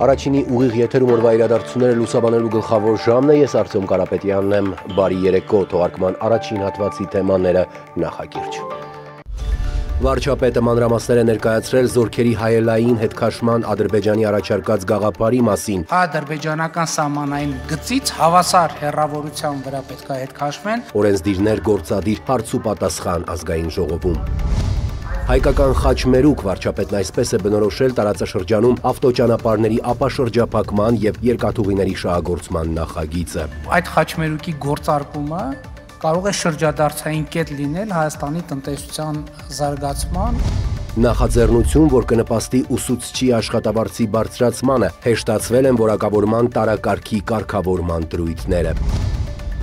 Առաջինի ուղիղ եթերում օրվա իրադարձությունները լուսաբանելու գլխավոր ժամն է, ես Արտյոմ Կարապետյանն եմ, բարի երեկո, թողարկման առաջին հատվածի թեմաները նախագիրճ։ Վարչապետը մանրամասներ է ներկայացրել զորքերի հայելային հետքաշման Ադրբեջանի առաջարկած գաղափարի մասին։ Ադրբեջանական սահմանային գծից հավասար հեռավորության վրա պետք է հետքաշվեն։ Օրենսդիրներ գործադիր հարց ու պատասխան ազգային ժողովում։ Հայկական խաչմերուկ վարչապետն այսպես է բնորոշել տարածաշրջանում ավտոճանապարհների ապաշրջափակման եւ երկաթուղիների շահագործման նախագիծը։ Այդ խաչմերուկի գործարկումը կարող է շրջադարձային կետ լինել Հայաստանի տնտեսության զարգացման։ Նախաձեռնություն, որ կնպաստի ուսուցչի աշխատավարձի բարձրացմանը, հեշտացվել են որակավորման տարակարգի կարգավորման դրույթները։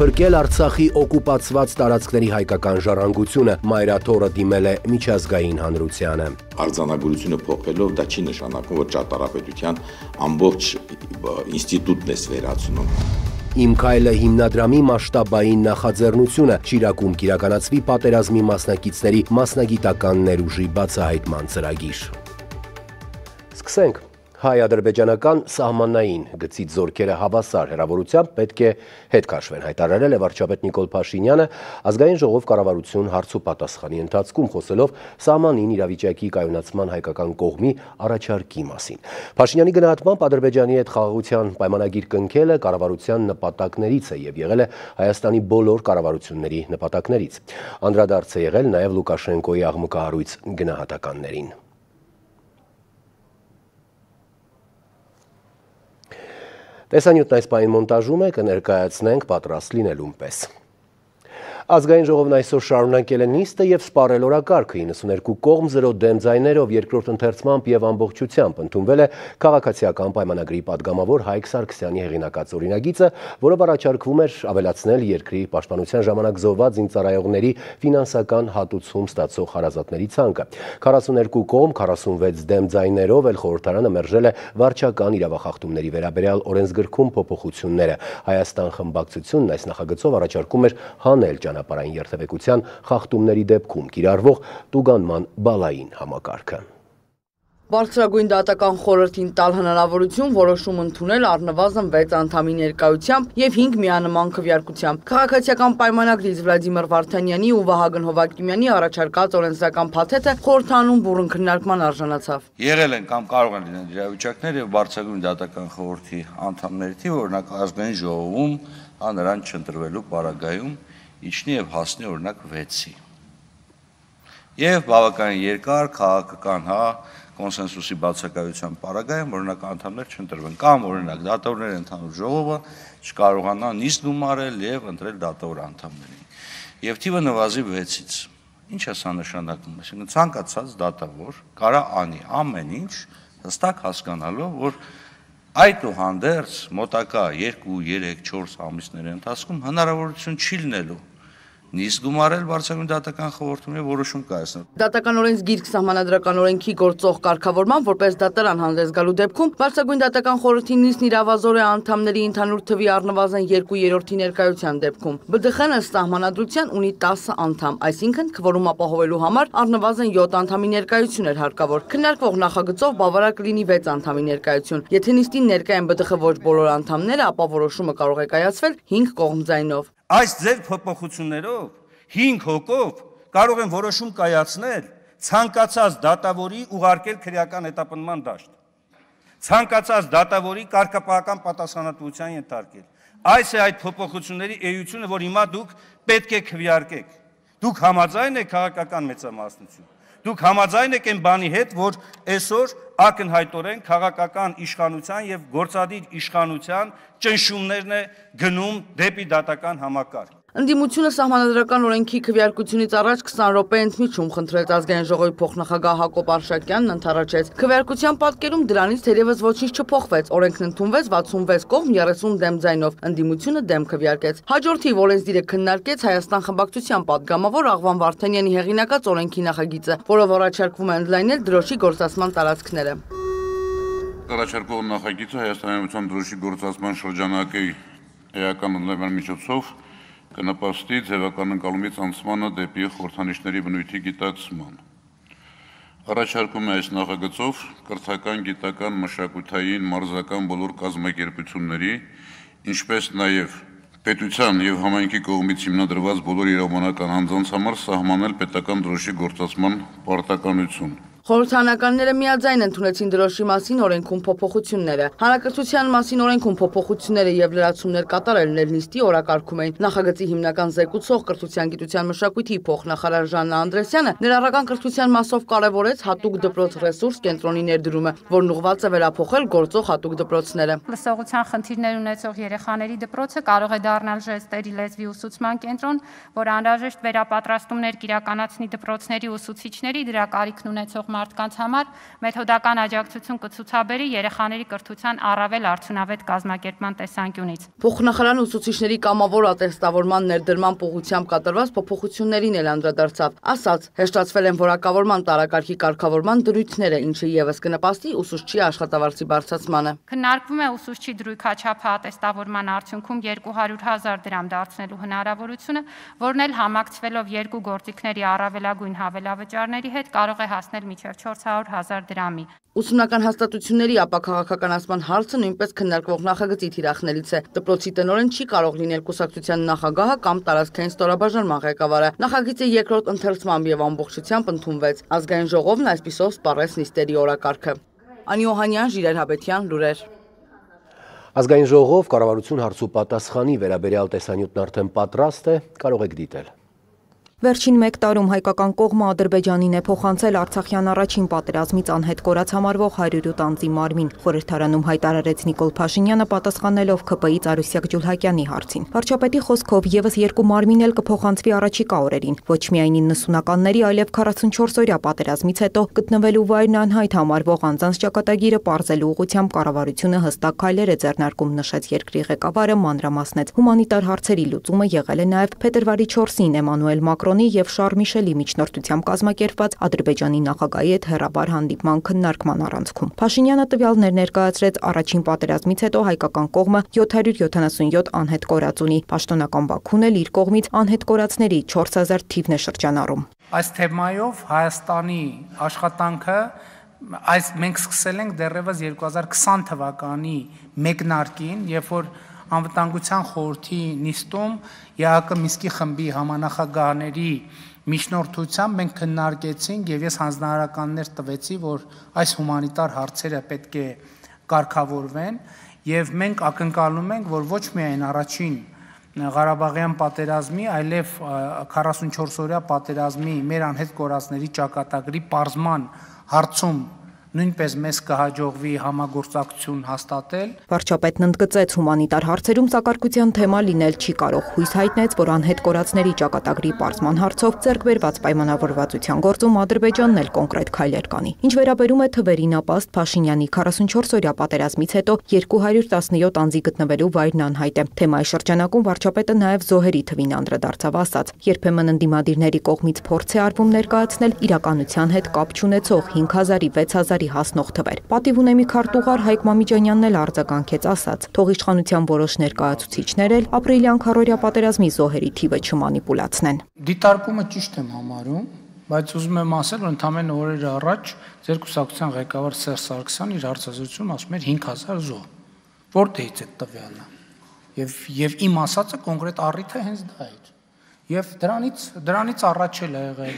Փրկել Արցախի օկուպացված տարածքների հայկական ժառանգությունը, մայրաթոռը դիմել է միջազգային հանրությանը։ Արձանագրությունը փոխելով դա չի նշանակում, որ ճարտարապետության ամբողջ ինստիտուտն է վերացնում։ Իմ քայլը հիմնադրամի մասշտաբային նախաձեռնությունը, Շիրակում կիրականացվի պատերազմի մասնակիցների մասնագիտական ներուժի բացահայտման ծրագիր։ Սկսենք։ Հայ-ադրբեջանական սահմանային գծից զորքերը հավասար հեռավորությամբ պետք է հետ քաշվեն, հայտարարել է վարչապետ Նիկոլ Փաշինյանը ազգային ժողով կառավարություն հարց ու պատասխանի ընթացքում խոսելով սահմանին իրավիճակի կայունացման հայկական կողմի առաջարկի մասին։ Փաշինյանի գնահատմամբ Ադրբեջանի հետ խաղաղության պայմանագիր կնքելը կառավարության նպատակներից է եւ եղել է Հայաստանի բոլոր կառավարությունների նպատակներից։ Անդրադարձ է եղել նաեւ Լուկաշենկոյի աղմկահարույց գնահատականներին։ Տեսանյութն այս պահին մոնտաժում է, կներկայացնենք պատրաստ լինելուն պես։ Ազգային ժողովն այսօր շարունակել է նիստը եւ սպառել օրակարգը 92 կողմ 0 դեմ ձայներով երկրորդ ընթերցմամբ եւ ամբողջությամբ ընդունվել է քաղաքացիական պայմանագրի падգամավոր Հայկ Սարգսյանի հեղինակած օրինագիծը, որով առաջարկվում էր ավելացնել երկրի պաշտպանության ժամանակ զոհված զինծառայողների ֆինանսական հատուցում ստացող հարազատների ցանկը։ 42 կողմ 46 դեմ ձայներով էլ խորհրդարանը մերժել է վարչական իրավախախտումների վերաբերյալ օրենսգրքում փոփոխությունները։ Հայաստան խմբակցությունն այս նախագծով առաջարկում էր հանել ճանապարհային երթևեկության խախտումների դեպքում կիրառվող տուգանման բալային համակարգը։ Բարձրագույն դատական խորհրդին տալ հնարավորություն որոշում ընդունել առնվազն 6 անդամի ներկայությամբ եւ 5 միանման քվեարկությամբ։ Քաղաքացիական պայմանագրից Վլադիմիր Վարդանյանի ու Վահագն Հովակիմյանի առաջարկած օրենսդրական փաթեթը խորհրդանում բուռն քննարկման արժանացավ։ Եղել են կամ կարող են լինել իրավիճակներ եւ բարձրագույն դատական խորհրդի անդամների թիվը, օրինակ ազգային ժողովում նրան չընտրվելու պարագայում իջնի եւ հասնի օրինակ 6-ի։ Եվ բավականին երկար քաղաքական կոնսենսուսի բացակայության պարագայում օրինակ անդամներ չընտրվեն կամ օրինակ դատավորների ընդհանուր ժողովը չկարողանա նիստ գումարել եւ ընտրել դատավոր անդամներին։ Եվ թիվը նվազի 6-ից։ Ինչ է սա նշանակում, այսինքն ցանկացած դատավոր կարա անի ամեն ինչ հստակ հասկանալով, որ այդուհանդերձ մոտակա 2, 3, 4 ամիսների ընթացքում հնարավորություն չի լինելու նիստ գումարել բարձրագույն դատական խորհրդում եւ որոշում կայացնել։ Դատական օրենսգիրք սահմանադրական օրենքի գործող կարգավորման որպես դատարան հանդես գալու դեպքում բարձրագույն դատական խորհրդի նիստն իրավազոր է անդամների ընդհանուր թվի առնվազն 2/3-ի ներկայության դեպքում։ ԲԴԽ-ն ըստ սահմանադրության ունի 10 անդամ, այսինքն քվորում ապահովելու համար առնվազն 7 անդամի ներկայություն էր հարկավոր։ Քննարկվող նախագծով բավարար կլինի 6 անդամի ներկայություն։ Եթե նիստին ներկա են ԲԴԽ ոչ բոլոր անդամները, ապա որոշումը կարող է կայացվել 5 կողմ ձայնով։ Այս ձեր փոփոխություններով 5 հոգով կարող են որոշում կայացնել ցանկացած դատավորի ուղարկել քրեական հետապնդման դաշտ, ցանկացած դատավորի կարգապահական պատասխանատվության ենթարկել։ Այս է այդ փոփոխությունների էությունը, որ հիմա դուք պետք է քվեարկեք։ Դուք համաձայն եք քաղաքական մեծամասնություն։ Դուք համաձայն եք այն բանի հետ, որ այսօր ակնհայտորեն քաղաքական իշխանության եւ գործադիր իշխանության ճնշումներն է գնում դեպի դատական համակարգ։ Ընդդիմությունը սահմանադրական օրենքի քվեարկությունից առաջ 20 րոպե ընդմիջում խնդրեց ազգային ժողովի փոխնախագահ Հակոբ Արշակյանն ընդառաջեց։ Քվեարկության պատկերում դրանից թերևս ոչինչ չփոխվեց։ Օրենքն ընդունվեց 66 կողմ 30 դեմ ձայնով։ Ընդդիմությունը դեմ քվեարկեց։ Հաջորդիվ օրենսդիրը քննարկեց Հայաստան խմբակցության падգամավոր Աղվան Վարդանյանի հեղինակած օրենքի նախագիծը, որով առաջարկվում է ընդլայնել դրոշի գործածման տարածքները։ Առաջարկող նախագիծը Հայաստանի Հանրապետության դրոշի գործածման շրջանակի էական ընդլայնման միջոցով կնպաստի ձևական ընկալումից անցմանը դեպի խորհրդանիշների բնույթի գիտակցման։ Առաջարկում է այս նախագծով կրթական, գիտական, մշակութային, մարզական բոլոր կազմակերպությունների, ինչպես նաև պետության եւ համայնքի կողմից հիմնադրված բոլոր իրավաբանական անձանց համար սահմանել պետական դրոշի գործածման պարտականություն։ Խորհրդարանականները միաձայն ընդունեցին դրոշի մասին օրենքում փոփոխությունները։ Հանրակրթության մասին օրենքում փոփոխությունները եւ լրացումներ կատարելն էլ նիստի օրակարգում էին։ Նախագծի հիմնական զեկուցող կրթության, գիտության, մշակույթի փոխնախարար Ժաննա Անդրեսյանը ներառական կրթության մասով կարևորեց հատուկ դպրոց ռեսուրս կենտրոնի ներդրումը, որն ուղղված է վերափոխել գործող հատուկ դպրոցները։ Լսողության խնդիրներ ունեցող երեխաների դպրոցը կարող է դառնալ ժեստերի լեզվի ուսուցման կենտրոն, որ անհրաժեշտ վերապատրաստումներ կիրականացնի դպրոցների ուսուցիչների, դրա կարիքն ունեցող մարդկանց համար մեթոդական աջակցություն կցուցաբերի երեխաների կրթության առավել արդյունավետ կազմակերպման տեսանկյունից։ Փոխնախարարն ուսուցիչների կամավոր ատեստավորման ներդրման ուղղությամբ կատարված փոփոխություններին էլ անդրադարձավ։ Ասաց, հեշտացվել են որակավորման տարակարգի կարգավորման դրույթները, ինչը ևս կնպաստի ուսուցչի աշխատավարձի բարձրացմանը։ Քննարկվում է ուսուցչի դրույքաչափը ատեստավորման արդյունքում 200,000 դրամ դարձնելու հնարավորությունը, որն էլ համակցվելով երկու գործիքների առավելագույն հավելավճարների հետ կարող է հասնել մինչև 400,000 դրամի։ Ուսումնական հաստատությունների ապաքաղաքականացման հարցը նույնպես քննարկվող նախագծի թիրախներից է։ Դպրոցի տնօրեն չի կարող լինել կուսակցության նախագահը կամ տարածքային ստորաբաժանման ղեկավարը։ Նախագիծը երկրորդ ընթերցմամբ եւ ամբողջությամբ ընդունվեց։ Ազգային ժողովն այսպիսով սպառեց նիստերի օրակարգը։ Անի Օհանյան, Ժիրայր Հաբետյան, լուրեր։ Ազգային ժողով կառավարություն հարցու պատասխանի վերաբերյալ տեսանյութն արդեն պատրաստ է, կարող եք դիտել։ Վերջին մեկ տարում հայկական կողմը Ադրբեջանին է փոխանցել Արցախյան առաջին պատերազմից անհետ կորած համարվող 108 անձի մարմին։ Խորհրդարանում հայտարարեց Նիկոլ Փաշինյանը պատասխանելով ՔՊ-ից Արուսյակ Ջուլհակյանի հարցին։ Վարչապետի խոսքով եւս երկու մարմին էլ կփոխանցվի առաջիկա օրերին։ Ոչ միայն 90-ականների, այլև 44-օրյա պատերազմից հետո գտնվելու վայրն անհայտ համարվող անձանց ճակատագիրը պարզելու ուղղությամբ կառավարությունը հստակ քայլեր է ձեռնարկում, նշեց երկրի ղեկավարը, մանրամասնեց։ Հումանիտար հարցերի լուծումը եղել է նաեւ փետրվարի 4-ին Էմանուել Մակրոնի եւ Շարլ Միշելի միջնորդությամբ կազմակերպված Ադրբեջանի նախագահի հետ հեռավար հանդիպման քննարկման առանցքում։ Փաշինյանը տվյալներ ներկայացրեց առաջին պատերազմից հետո հայկական կողմը 777 անհետ կորած ունի։ Պաշտոնական Բաքուն էլ իր կողմից անհետ կորածների 4000 թիվն է շրջանառում։ Այս թեմայով Հայաստանի աշխատանքը մենք սկսել ենք դեռևս 2020 թվականի մեկնարկին, երբ որ Անվտանգության խորհրդի նիստում ԵԱԿ Մինսկի խմբի համանախագահների միջնորդությամբ մենք քննարկեցինք եւ ես հանձնարարականներ տվեցի, որ այս հումանիտար հարցերը պետք է կարգավորվեն եւ մենք ակնկալում ենք, որ ոչ միայն առաջին Ղարաբաղյան պատերազմի, այլև 44-օրյա պատերազմի մեր անհետ կորածների ճակատագրի պարզման հարցում նույնպես մեզ կհաջողվի համագործակցություն հաստատել։ Վարչապետն ընդգծեց հումանիտար հարցերում սակարկության թեմա լինել չի կարող, հույս հայտնեց, որ անհետ կորածների ճակատագրի պարզման հարցով ձեռք բերված պայմանավորվածության գործում Ադրբեջանն էլ կոնկրետ քայլեր կանի։ Ինչ վերաբերում է թվերին, ապաստ Փաշինյանի 44-օրյա պատերազմից հետո 217 անձի գտնվելու վայրն անհայտ է։ Թեմայի շրջանակում վարչապետը նաև զոհերի թվին անդրադարձավ, ասաց. երբեմն ընդդիմադիրների կողմից փորձ է արվում ներկայացնել իրականության հետ կապ չունեցող 5000-ի 6000 հասնող թվեր։ Պատիվ ունեմի քարտուղար Հայկ Մամիջանյանն էլ արձագանքեց, ասաց. թող իշխանության որոշ ներկայացուցիչներ էլ ապրիլյան քառօրյա պատերազմի զոհերի թիվը չմանիպուլացնեն։ Դիտարկումը ճիշտ եմ համարում, բայց ուզում եմ ասել, որ ընդամենը օրեր առաջ ձեր կուսակցության ղեկավար Սերժ Սարգսյանն իր հարցազրույցում ասում էր 5000 զոհ։ Որտեղից է տվյալը։ Եվ իմ ասածը կոնկրետ առիթը հենց դա էր։ Եվ դրանից առաջ էլ ա եղել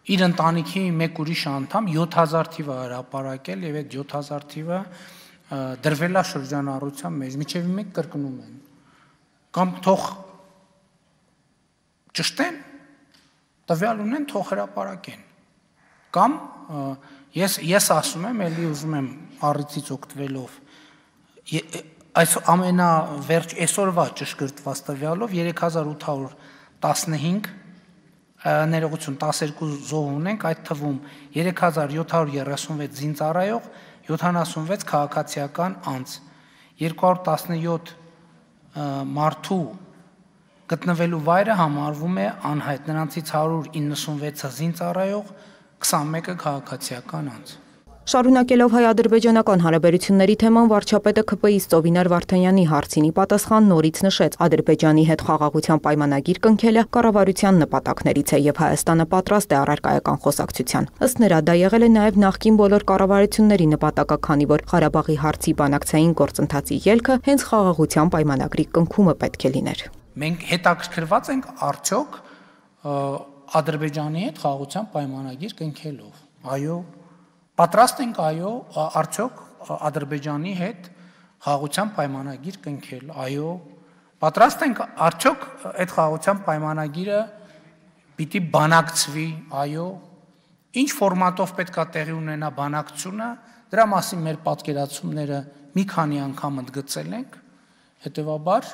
իր ընտանիքի մեկ ուրիշ անդամ 7000 թիվը հրապարակել եւ այդ 7000 թիվը դրվել է շրջանառության մեջ, միջև մեկ կրկնում են։ Կամ թող ճշտեն, տվյալ ունեն, թող հրապարակեն։ Կամ ես ասում եմ, ելի ուզում եմ առիթից օգտվելով այս ամենավերջ այսօրվա ճշգրտված տվյալով 3815 ներողություն 12 զոհ ունենք, այդ թվում 3736 զինծառայող, 76 քաղաքացիական անձ, 217 մարդու գտնվելու վայրը համարվում է անհայտ, նրանցից 196-ը զինծառայող, 21-ը քաղաքացիական անձ։ Շարունակելով հայ-ադրբեջանական հարաբերությունների թեման, վարչապետը ՔՊԻ-ից Ծովինար Վարդանյանի հարցինի պատասխան նորից նշեց, Ադրբեջանի հետ խաղաղության պայմանագիր կնքելը կառավարության նպատակներից է եւ Հայաստանը պատրաստ է առարկայական խոսակցության։ Ըստ նրա, դա եղել է նաեւ նախկին բոլոր կառավարությունների նպատակը, քանի որ Ղարաբաղի հարցի բանակցային գործընթացի ելքը հենց խաղաղության պայմանագրի կնքումը պետք է լիներ։ Մենք հետաքրքրված ենք արդյոք Ադրբեջանի հետ խաղաղության պայմանագիր կնքելով։ Այո, պատրաստ ենք արդյոք Ադրբեջանի հետ խաղաղության պայմանագիր կնքել։ Այո, պատրաստ ենք արդյոք այդ խաղաղության պայմանագիրը պիտի բանակցվի։ Այո, ինչ ֆորմատով պետքա տեղի ունենա բանակցությունը, դրա մասին մեր պատկերացումները մի քանի անգամ ընդգծել ենք, հետևաբար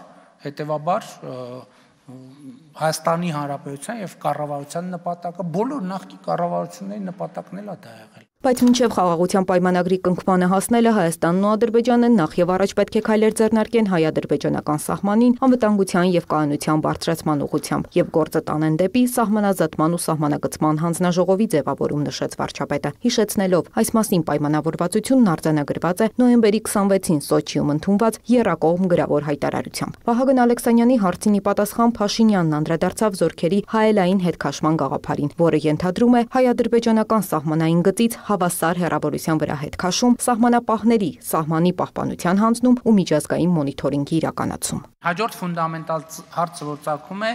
Հայաստանի Հանրապետության եւ կառավարության նպատակը բոլոր նախկին կառավարությունների նպատակն էլ է դա եղել։ Բայց մինչև խաղաղության պայմանագրի կնքմանը հասնելը Հայաստանն ու Ադրբեջանը նախ եւ առաջ պետք է քայլեր ձեռնարկեն հայ-ադրբեջանական սահմանին անվտանգության եւ կայունության բարձրացման ուղղությամբ եւ գործը տանեն դեպի սահմանազատման ու սահմանագծման հանձնաժողովի ձևավորում, նշեց վարչապետը, հիշեցնելով այս մասին պայմանավորվածությունն արձանագրված է նոյեմբերի 26-ին Սոչիում ընդունված եռակողմ գրավոր հայտարարությամբ։ Վահագն Ալեքսանյանի հարցինի պատասխան Փաշինյանն անդրադարձավ զորքերի հայելային հետքաշման գաղափարին, որը ենթադրում է հայ-ադրբեջանական սահմանային գծից հավասար հեռավորության վրա հետքաշում, սահմանապահների սահմանի պահպանության հանձնում ու միջազգային մոնիթորինգի իրականացում։ Հաջորդ ֆունդամենտալ հարցը, որ ծագում է,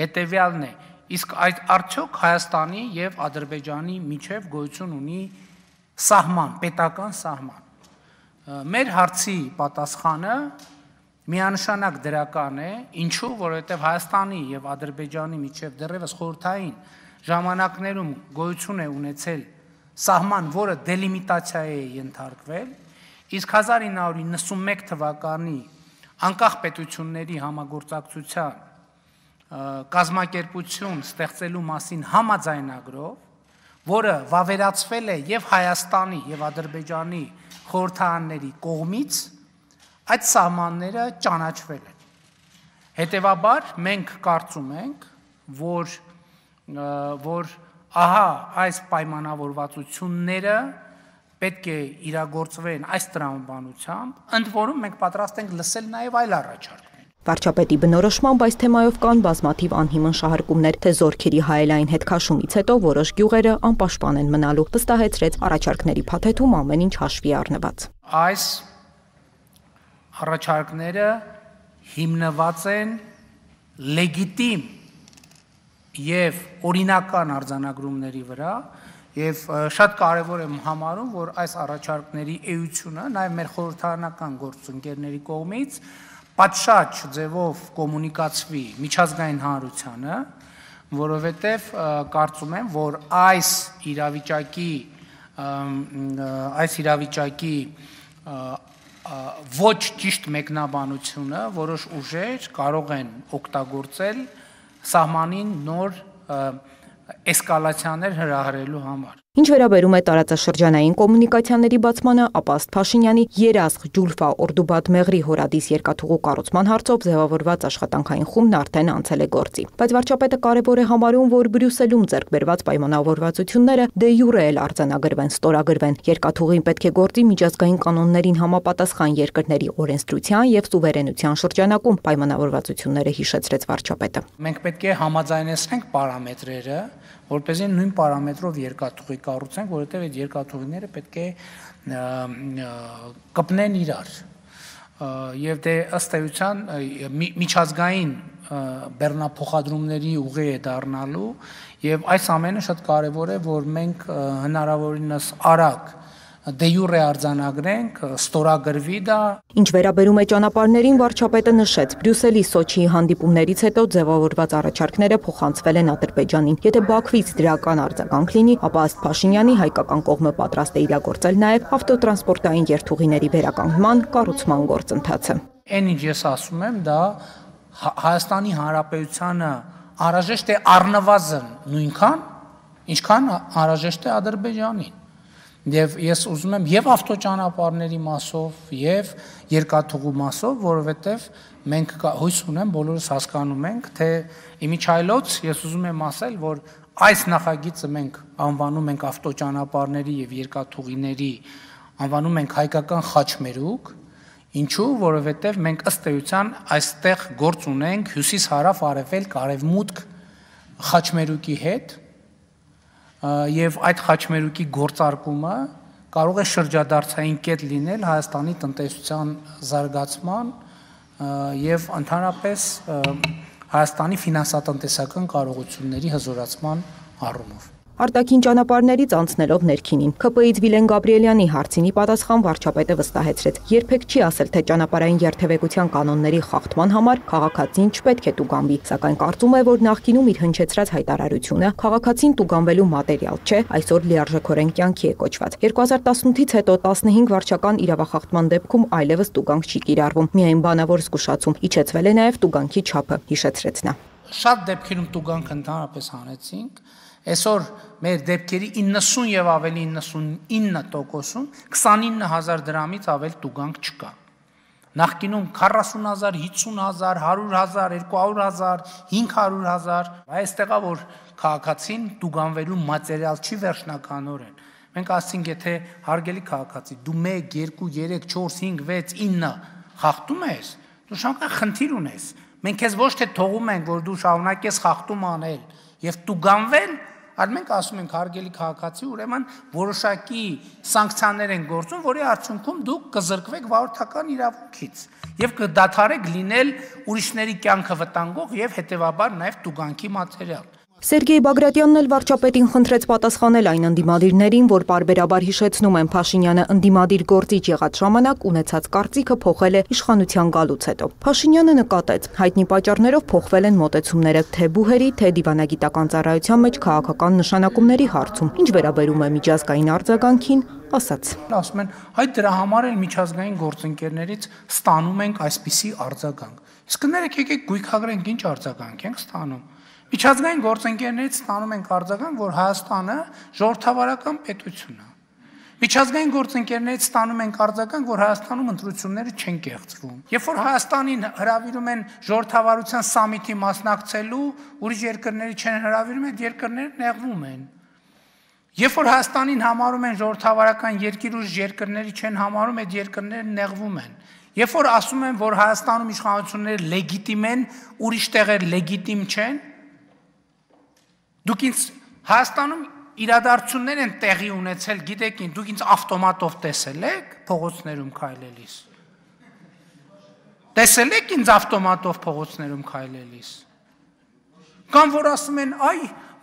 հետևյալն է. իսկ այդ արդյոք Հայաստանի եւ Ադրբեջանի միջև գոյություն ունի սահման, պետական սահման։ Մեր հարցի պատասխանը միանշանակ դրական է, ինչու, որովհետև Հայաստանի եւ Ադրբեջանի միջև դեռևս խորհրդային ժամանակներում գոյություն է ունեցել սահման, որը դելիմիտացիա է ենթարկվել, իսկ 1991 թվականի անկախ պետությունների համագործակցության կազմակերպություն ստեղծելու մասին համաձայնագրով, որը վավերացվել է եւ Հայաստանի եւ Ադրբեջանի խորհրդարանների կողմից, այդ սահմանները ճանաչվել են։ Հետևաբար մենք կարծում ենք, որ ահա այս պայմանավորվածությունները պետք է իրագործվեն այս տրամաբանությամբ, ընդ որում մենք պատրաստ ենք լսել նաև այլ առաջարկներ։ Վարչապետի բնորոշմամբ այս թեմայով կան բազմաթիվ անհիմն շահարկումներ, թե զորքերի հայելային հետքաշումից հետո որոշ գյուղերը անպաշտպան են մնալու, վստահեցրեց առաջարկների փաթեթում ամեն ինչ հաշվի առնված։ Այս առաջարկները հիմնված են լեգիտիմ եւ օրինական արձանագրումների վրա եւ շատ կարեւոր եմ համարում, որ այս առաջարկների էությունը նաեւ մեր խորհրդարանական գործընկերների կողմից պատշաճ ձևով կոմունիկացվի միջազգային հանրությանը, որովհետեւ կարծում եմ, որ այս իրավիճակի ոչ ճիշտ մեկնաբանությունը որոշ ուժեր կարող են օգտագործել սահմանին նոր էսկալացիաներ հրահրելու համար։ Ինչ վերաբերում է տարածաշրջանային կոմունիկացիաների բացմանը, ապա ըստ Փաշինյանի Երազղ Ջուլֆա Օրդուբադ Մեղրի հորադիս երկաթուղու կառուցման հարցով ձևավորված աշխատանքային խումբն արդեն անցել է գործի։ Բայց վարչապետը կարևոր է համարում, որ Բրյուսելում ձեռք բերված պայմանավորվածությունները դե յուրե էլ արձանագրվեն, ստորագրվեն։ Երկաթուղին պետք է գործի միջազգային կանոններին համապատասխան երկրների օրենսդրության եւ սուվերենության շրջանակում, պայմանավորվածությունները հիշեցրեց վարչապետը։ Մենք պետք է համաձայնեցնենք պարամետրերը, որպեսզի նույն պարամետրով երկաթուղի կառուցենք, որովհետև այդ երկաթուղիները պետք է կպնեն իրար։ Եվ դե ըստ էության միջազգային բեռնափոխադրումների ուղի է դառնալու, եւ այս ամենը շատ կարեւոր է, որ մենք հնարավորինս արագ դե յուրե արձանագրենք, ստորագրվի դա։ Ինչ վերաբերում է ճանապարհներին, վարչապետը նշեց, Բրյուսելի Սոչիի հանդիպումներից հետո ձևավորված առաջարկները փոխանցվել են Ադրբեջանին։ Եթե Բաքվից դրական արձագանք լինի, ապա ըստ Փաշինյանի հայկական կողմը պատրաստ է իրագործել նաև ավտոտրանսպորտային երթուղիների վերականգնման, կառուցման գործընթացը։ Այն ինչ ես ասում եմ, դա Հայաստանի Հանրապետությանը անհրաժեշտ է առնվազն նույնքան, ինչքան անհրաժեշտ է Ադրբեջանին։ Եվ ես ուզում եմ եւ ավտոճանապարհների մասով եւ երկաթուղու մասով, որովհետեւ մենք հույս ունեմ, բոլորս հասկանում ենք, թե իմիջայլոց ես ուզում եմ ասել, որ այս նախագիծը մենք անվանում ենք ավտոճանապարհների եւ երկաթուղիների, անվանում ենք հայկական խաչմերուկ, ինչու, որովհետեւ մենք ըստ էության այստեղ գործ ունենք հյուսիս-հարավ, արևելք, արևմուտք խաչմերուկի հետ եւ այդ խաչմերուկի գործարկումը կարող է շրջադարձային կետ լինել Հայաստանի տնտեսության զարգացման եւ ընդհանրապես Հայաստանի ֆինանսատնտեսական կարողությունների հզորացման առումով։ Արտաքին ճանապարհներից անցնելով ներքինին, ՔՊ-ից Վիլեն Գաբրիելյանի հարցինի պատասխան վարչապետը վստահեցրեց. երբեք չի ասել, թե ճանապարհային երթևեկության կանոնների խախտման համար քաղաքացին չպետք է տուգանվի, սակայն կարծում է, որ նախկինում իր հնչեցրած հայտարարությունը քաղաքացին տուգանվելու մատերիալ չէ, այսօր լիարժեքորեն կյանքի է կոչված։ 2018-ից հետո 15 վարչական իրավախախտման դեպքում այլևս տուգանք չի կիրառվում, միայն բանավոր զգուշացում, իջեցվել է նաև տուգանքի չափը, հիշեցրեց նա։ Շատ դեպքերում տուգանք ընդհանրապես հանեցինք։ Այսօր մեր դեպքերի 90 եւ ավելի 99%-ում 29000 դրամից ավել տուգանք չկա։ Նախկինում 40000, 50000, 100000, 200000, 500000, այստեղա որ քաղաքացին տուգանվելու մատերիալ չի վերջնականորեն։ Մենք ասենք, եթե հարգելի քաղաքացի, դու 1, 2, 3, 4, 5, 6, 9 խախտում ես, դու շանկան խնդիր ունես։ Մենք քեզ ոչ թե թողում ենք, որ դու շարունակես խախտում անել եւ տուգանվել, այլ մենք ասում ենք հարգելի քաղաքացի, ուրեմն որոշակի սանկցիաներ են գործում, որի արդյունքում դուք կզրկվեք վարորդական իրավունքից եւ կդադարեք լինել ուրիշների կյանքը վտանգող եւ հետեւաբար նաեւ տուգանքի մատերիալ։ Սերգեյ Բագրատյանն էլ վարչապետին խնդրեց պատասխանել այն ընդդիմադիրներին, որ պարբերաբար հիշեցնում են Փաշինյանը ընդդիմադիր գործիչ եղած ժամանակ ունեցած կարծիքը փոխել է իշխանության գալուց հետո։ Փաշինյանը նկատեց, հայտնի պատճառներով փոխվել են մոտեցումները թե բուհերի, թե դիվանագիտական ծառայության մեջ քաղաքական նշանակումների հարցում, ինչ վերաբերում է միջազգային արձագանքին, ասաց. Ասում են, հայ դրա համար էլ միջազգային գործընկերներից ստանում ենք այսպիսի արձագանք։ Իսկ կներեք եկեք գույքագրենք ինչ արձագանք ենք ստանում։ Միջազգային գործընկերներից ստանում ենք արձագանք, որ Հայաստանը ժողովրդավարական պետություն է։ Միջազգային գործընկերներից ստանում ենք արձագանք, որ Հայաստանում ընտրությունները չեն կեղծվում։ Երբ որ Հայաստանին հրավիրում են ժողովրդավարության սամիթի մասնակցելու, ուրիշ երկրների չեն հրավիրում, այդ երկրները նեղվում են։ Երբ որ Հայաստանին համարում են ժողովրդավարական երկիր, ուրիշ երկրների չեն համարում, այդ երկրները նեղվում են։ Երբ որ ասում են, որ Հայաստանում իշխանությունները լեգիտիմ են, ուրիշ տեղեր լեգիտիմ չեն, դուք ինձ Հայաստանում իրադարձություններ են տեղի ունեցել, գիտեք, դուք ինձ ավտոմատով տեսել եք փողոցներում քայլելիս։ Տեսել եք ինձ ավտոմատով փողոցներում քայլելիս։ Կամ որ ասում են, այ,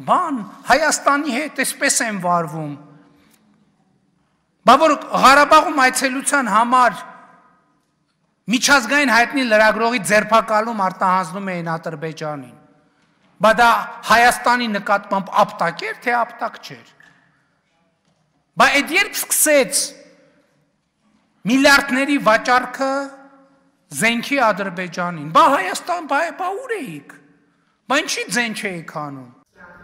բան, Հայաստանի հետ էսպես են վարվում։ Բա որ Ղարաբաղում այցելության համար միջազգային հայտնի լրագրողի ձերբակալում արտահանձնում էին Ադրբեջանին։ Բա դա Հայաստանի նկատմամբ ապտակ էր, թե ապտակ չէր։ Բա այդ երբ սկսեց միլիարդների վաճառքը զենքի Ադրբեջանին, բա Հայաստան, բա ուր էիք, բա ինչի ձեն չէիք անում։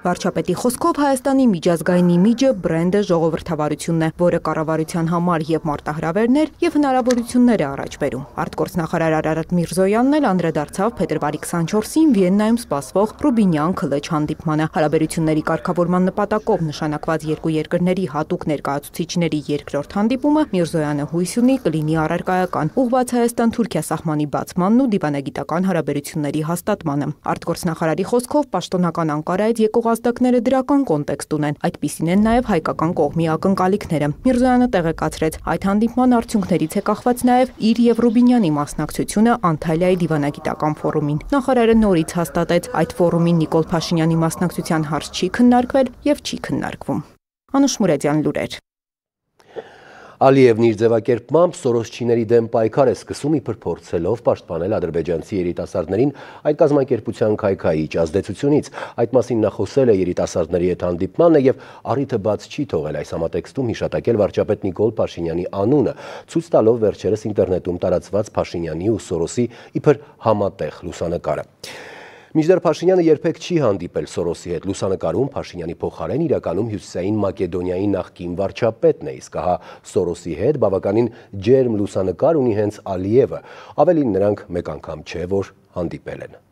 Վարչապետի խոսքով Հայաստանի միջազգային իմիջը բրենդը ժողովրդավարությունն է, որը կառավարության համար եւ մարտահրավերներ եւ հնարավորություններ է առաջ բերում։ Արտգործնախարար Արարատ Միրզոյանն էլ անդրադարձավ փետրվարի 24-ին Վիեննայում սպասվող Ռուբինյան-Քլեչ հանդիպմանը։ Հարաբերությունների կարգավորման նպատակով նշանակված երկու երկրների հատուկ ներկայացուցիչների երկրորդ հանդիպումը Միրզոյանը հույս ունի կլինի առարկայական, ուղղված Հայաստան-Թուրքիա սահմանի բացմանն ու դիվանագիտական հարաբերությունների հաստատմանը։ Արտգործնախարարի խոսքով պաշտոնական Անկարայից եկող ազդակները դրական կոնտեքստ ունեն, այդպիսին են նաև հայկական կողմի ակնկալիքները։ Միրզոյանը տեղեկացրեց, այդ հանդիպման արդյունքներից է կախված նաև իր եւ Ռուբինյանի մասնակցությունը Անտալիայի դիվանագիտական ֆորումին։ Նախարարը նորից հաստատեց, այդ ֆորումին Նիկոլ Փաշինյանի մասնակցության հարց չի քննարկվել եւ չի քննարկվում։ Անուշ Մուրադյան, լուրեր։ Ալիևն իր ձևակերպմամբ Սորոսչիների դեմ պայքար է սկսում իբր փորձելով պաշտպանել ադրբեջանցի երիտասարդներին այդ կազմակերպության քայքայիչ ազդեցությունից։ Այդ մասին նա խոսել է երիտասարդների հետ հանդիպմանը եւ առիթը բաց չի թողել այս համատեքստում հիշատակել վարչապետ Նիկոլ Փաշինյանի անունը, ցույց տալով վերջերս ինտերնետում տարածված Փաշինյանի ու Սորոսի իբր համատեղ լուսանկարը։ Մինչդեռ Փաշինյանը երբեք չի հանդիպել Սորոսի հետ։ Լուսանկարում Փաշինյանի փոխարեն իրականում Հյուսիսային Մակեդոնիայի նախկին վարչապետն է, իսկ ահա Սորոսի հետ բավականին ջերմ լուսանկար ունի հենց Ալիևը։ Ավելին, նրանք մեկ անգամ չէ, որ հանդիպել են։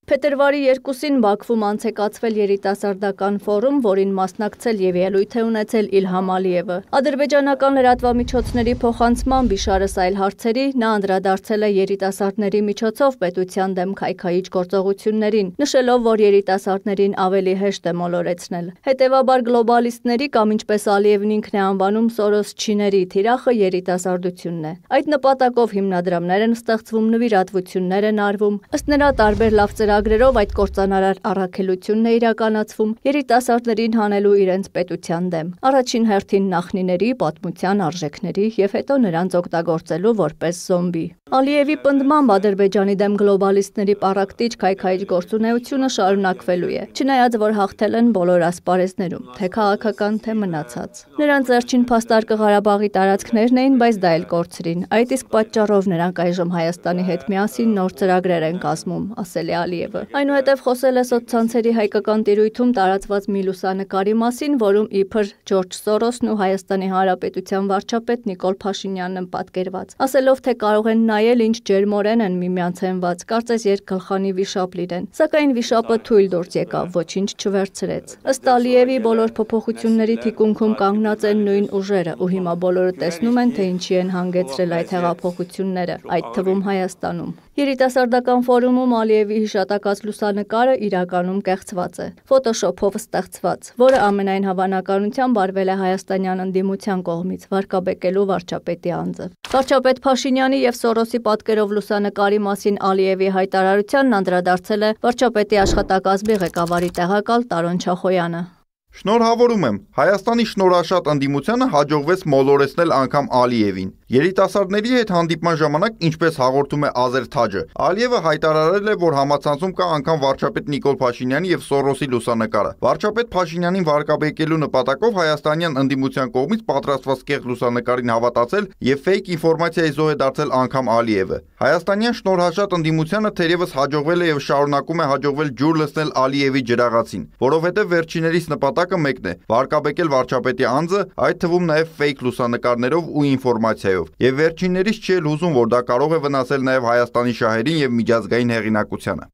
Փետրվարի 2-ին Բաքվում անցեկացվել երիտասարդական ֆորում, որին մասնակցել եւ ելույթ է ունեցել Իլհամ Ալիևը։ Ադրբեջանական լրատվամիջոցների փոխանցմամբ իշարս այլ հարցերի նա անդրադարձել է երիտասարդների միջոցով պետության դեմ քայքայիչ գործողություններին, նշելով, որ երիտասարդներին ավելի հեշտ է մոլորեցնել։ Հետևաբար գլոբալիստների կամ ինչպես Ալիևն ինքն է անվանում Սորոսչիների թիրախը երիտասարդությունն է։ Այդ նպատակով հիմնադրամներ են ստեղծվում, նվիրատվություններ են արվում։ Ըստ նրա տարբեր լավ ծրագրերով այդ կործանարար առաքելությունն է իրականացվում երիտասարդներին հանելու իրենց պետության դեմ։ Առաջին հերթին նախնիների, պատմության արժեքների եւ հետո նրանց օգտագործելու որպես զոմբի։ Ալիևի պնդմամբ Ադրբեջանի դեմ գլոբալիստների պառակտիչ քայքայիչ գործունեությունը շարունակվելու է, չնայած որ հաղթել են բոլոր ասպարեզներում, թե քաղաքական, թե մնացած։ Նրանց վերջին փաստարկը Ղարաբաղի տարածքներն էին, բայց դա էլ կորցրին։ Այդ իսկ պատճառով նրանք այժմ Հայաստանի հետ միասին նոր ծրագրեր են կազմում, ասել է Ալիևը։ Այնուհետև խոսել է սոցցանցերի հայկական տիրույթում տարածված մի լուսանկարի մասին, որում իբր Ջորջ Սորոսն ու Հայաստանի Հանրապետության վարչապետ Նիկոլ Փաշինյանն են պատկերված, ասելով, թե կարող են նայել ինչ ջերմորեն են միմյանց հենված, կարծես երկգլխանի վիշապ լինեն, սակայն վիշապը թույլ դուրս եկավ, ոչինչ չվերցրեց։ Ըստ Ալիևի բոլոր փոփոխությունների թիկունքում կանգնած են նույն ուժերը, ու հիմա բոլորը տեսնում են, թե ինչի են հանգեցրել այդ հեղափոխությունները, այդ թվում Հայաստանում։ Երիտասարդական ֆորումում Ալիևի հիշատակած լուսանկարը իրականում կեղծված է, ֆոտոշոփով ստեղծված, որը ամենայն հավանականությամբ արվել է հայաստանյան ընդդիմության կողմից, վարկաբեկելու վարչապետի անձը։ Վարչապետ Փաշինյանի եւ Սորոսի պատկերով լուսանկարի մասին Ալիևի հայտարարությանն անդրադարձել է վարչապետի աշխատակազմի ղեկավարի տեղակալ Տարոն Չախոյանը։ Շնորհավորում եմ, Հայաստանի շնորհաշատ ընդդիմությանը հաջողվեց մոլորեցնել անգամ Ալիևին։ Երիտասարդների հետ հանդիպման ժամանակ, ինչպես հաղորդում է Ազեր Թաջը, Ալիևը հայտարարել է, որ համացանցում կա անգամ վարչապետ Նիկոլ Փաշինյանի եւ Սորոսի լուսանկարը։ Վարչապետ Փաշինյանին վարկաբեկելու նպատակով հայաստանյան ընդդիմության կողմից պատրաստված կեղծ լուսանկարին հավատացել եւ ֆեյք ինֆորմացիայի զոհ է դարձել անգամ Ալիևը։ Հայաստանյան շնորհաշատ ընդդիմությանը թերևս հաջողվել է եւ շարունակում է հաջողվել ջուր լցնել Ալիևի ջրաղացին, որովհետեւ վերջիներիս նպատակը մեկն է՝ վարկաբեկել վարչապետի անձը, այդ թվում նաև ֆեյք լուսանկարներով ու ինֆորմացիայով։ Եվ վերջիններից չի էլ հուզում, որ դա կարող է վնասել նաև Հայաստանի շահերին եւ միջազգային հեղինակությանը։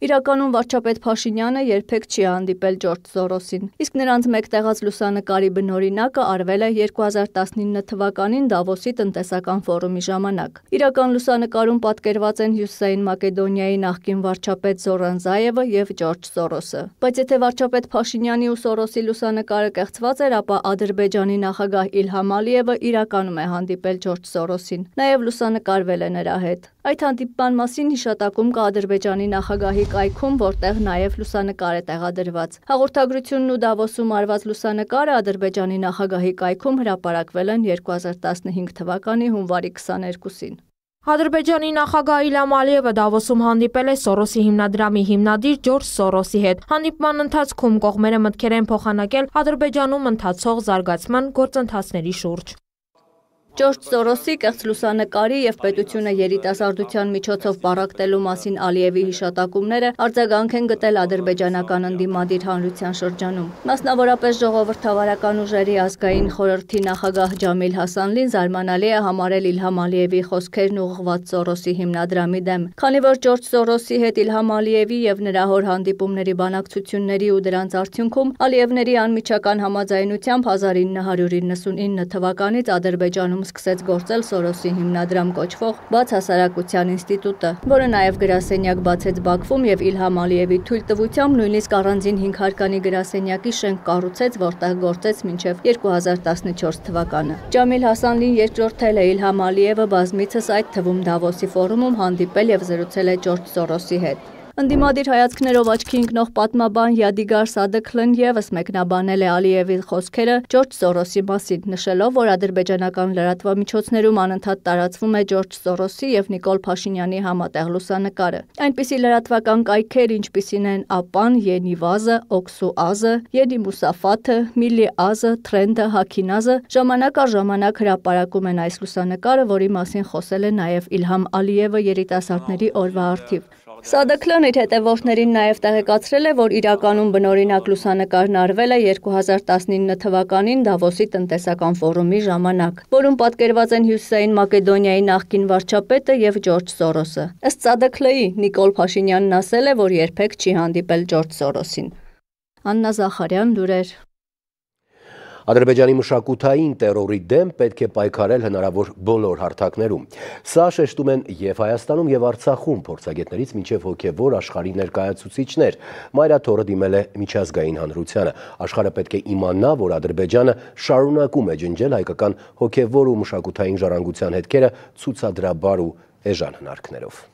Իրականում վարչապետ Փաշինյանը երբեք չի հանդիպել Ջորջ Սորոսին, իսկ նրանց մեկտեղած լուսանկարի բնօրինակը արվել է 2019 թվականին Դավոսի տնտեսական ֆորումի ժամանակ։ Իրական լուսանկարում պատկերված են Հյուսիսային Մակեդոնիայի նախկին վարչապետ Զորան Զայևը եւ Ջորջ Սորոսը։ Բայց եթե վարչապետ Փաշինյանի ու Սորոսի լուսանկարը կեղծված էր, ապա Ադրբեջանի նախագահ Իլհամ Ալիևը իրականում է հանդիպել Ջորջ Սորոսին, նաեւ լուսանկարվել է նրա հետ։ Այդ հանդիպման մասին հիշատակում կա Ադրբեջանի նախագահի կայքում, որտեղ նաև լուսանկար է տեղադրված։ Հաղորդագրությունն ու Դավոսում արված լուսանկարը Ադրբեջանի նախագահի կայքում հրապարակվել են 2015 թվականի հունվարի 22-ին։ Ադրբեջանի նախագահ Իլհամ Ալիևը Դավոսում հանդիպել է Սորոսի հիմնադրամի հիմնադիր Ջորջ Սորոսի հետ։ Հանդիպման ընթացքում կողմերը մտքեր են փոխանակել Ադրբեջանում ընթացող զարգացման գործընթացների շուրջ։ Ջորջ Սորոսի կեղծ լուսանկարի եւ պետությունը երիտասարդության միջոցով պառակտելու մասին Ալիևի հիշատակումները արձագանք են գտել ադրբեջանական ընդդիմադիր հանրության շրջանում։ Մասնավորապես ժողովրդավարական ուժերի ազգային խորհրդի նախագահ Ջամիլ Հասանլին զարմանալի է համարել Իլհամ Ալիևի խոսքերն ուղղված Սորոսի հիմնադրամի դեմ, քանի որ Ջորջ Սորոսի հետ Իլհամ Ալիևի եւ նրա հոր հանդիպումների բանակցությունների ու դրանց արդյունքում Ալիևների անմիջական համաձայնությամբ 1999 թվականից Ադրբեջանում սկսեց գործել Սորոսի հիմնադրամ կոչվող Բաց հասարակության ինստիտուտը, որը նաև գրասենյակ բացեց Բաքվում եւ Իլհամ Ալիևի թույլտվությամբ նույնիսկ առանձին 5 հարկանի գրասենյակի շենք կառուցեց, որտեղ գործեց մինչև 2014 թվականը։ Ջամիլ Հասանլին երկրորդել է Իլհամ Ալիևը բազմիցս, այդ թվում Դավոսի ֆորումում հանդիպել եւ զրուցել է Ջորջ Սորոսի հետ։ Ընդդիմադիր հայացքներով աչքի ընկնող պատմաբան Յադիգար Սադықլն եւս մեկնաբանել է Ալիևի խոսքերը Ջորջ Սորոսի մասին, նշելով, որ ադրբեջանական լրատվամիջոցներում անընդհատ տարածվում է Ջորջ Սորոսի եւ Նիկոլ Փաշինյանի համատեղ լուսանկարը։ Այնպիսի լրատվական կայքեր, ինչպիսին են ԱՊԱ-ն, Ենիվազը, Օքսու Ազը, Յենի Մուսաֆաթը, Միլի Ազը, Թրենդը, Հաքինազը ժամանակ առ ժամանակ հրապարակում են այս լուսանկարը, որի մասին խոսել է նաեւ Իլհամ Ալիևը երիտասարդների օրվա առթիվ։ Սադքլն իր հետևորդներին նաև տեղեկացրել է, որ իրականում բնօրինակ լուսանկարն արվել է 2019 թվականին Դավոսի տնտեսական ֆորումի ժամանակ, որում պատկերված են Հյուսիսային Մակեդոնիայի նախկին վարչապետը եւ Ջորջ Սորոսը։ Ըստ Սադքլի, Նիկոլ Փաշինյանն ասել է, որ երբեք չի հանդիպել Ջորջ Սորոսին։ Աննա Զախարյան, լուրեր։ Ադրբեջանի մշակութային տերորի դեմ պետք է պայքարել հնարավոր բոլոր հարթակներում։ Սա շեշտում են եւ Հայաստանում եւ Արցախում փորձագետներից մինչեւ հոգեվոր աշխարհի ներկայացուցիչներ։ Մայրաթորը դիմել է միջազգային հանրությանը։ Աշխարհը պետք է իմանա, որ Ադրբեջանը շարունակում է ջնջել հայկական հոգեվոր ու մշակութային ժառանգության հետքերը ցուցադրաբար ու էժան հնարքներով։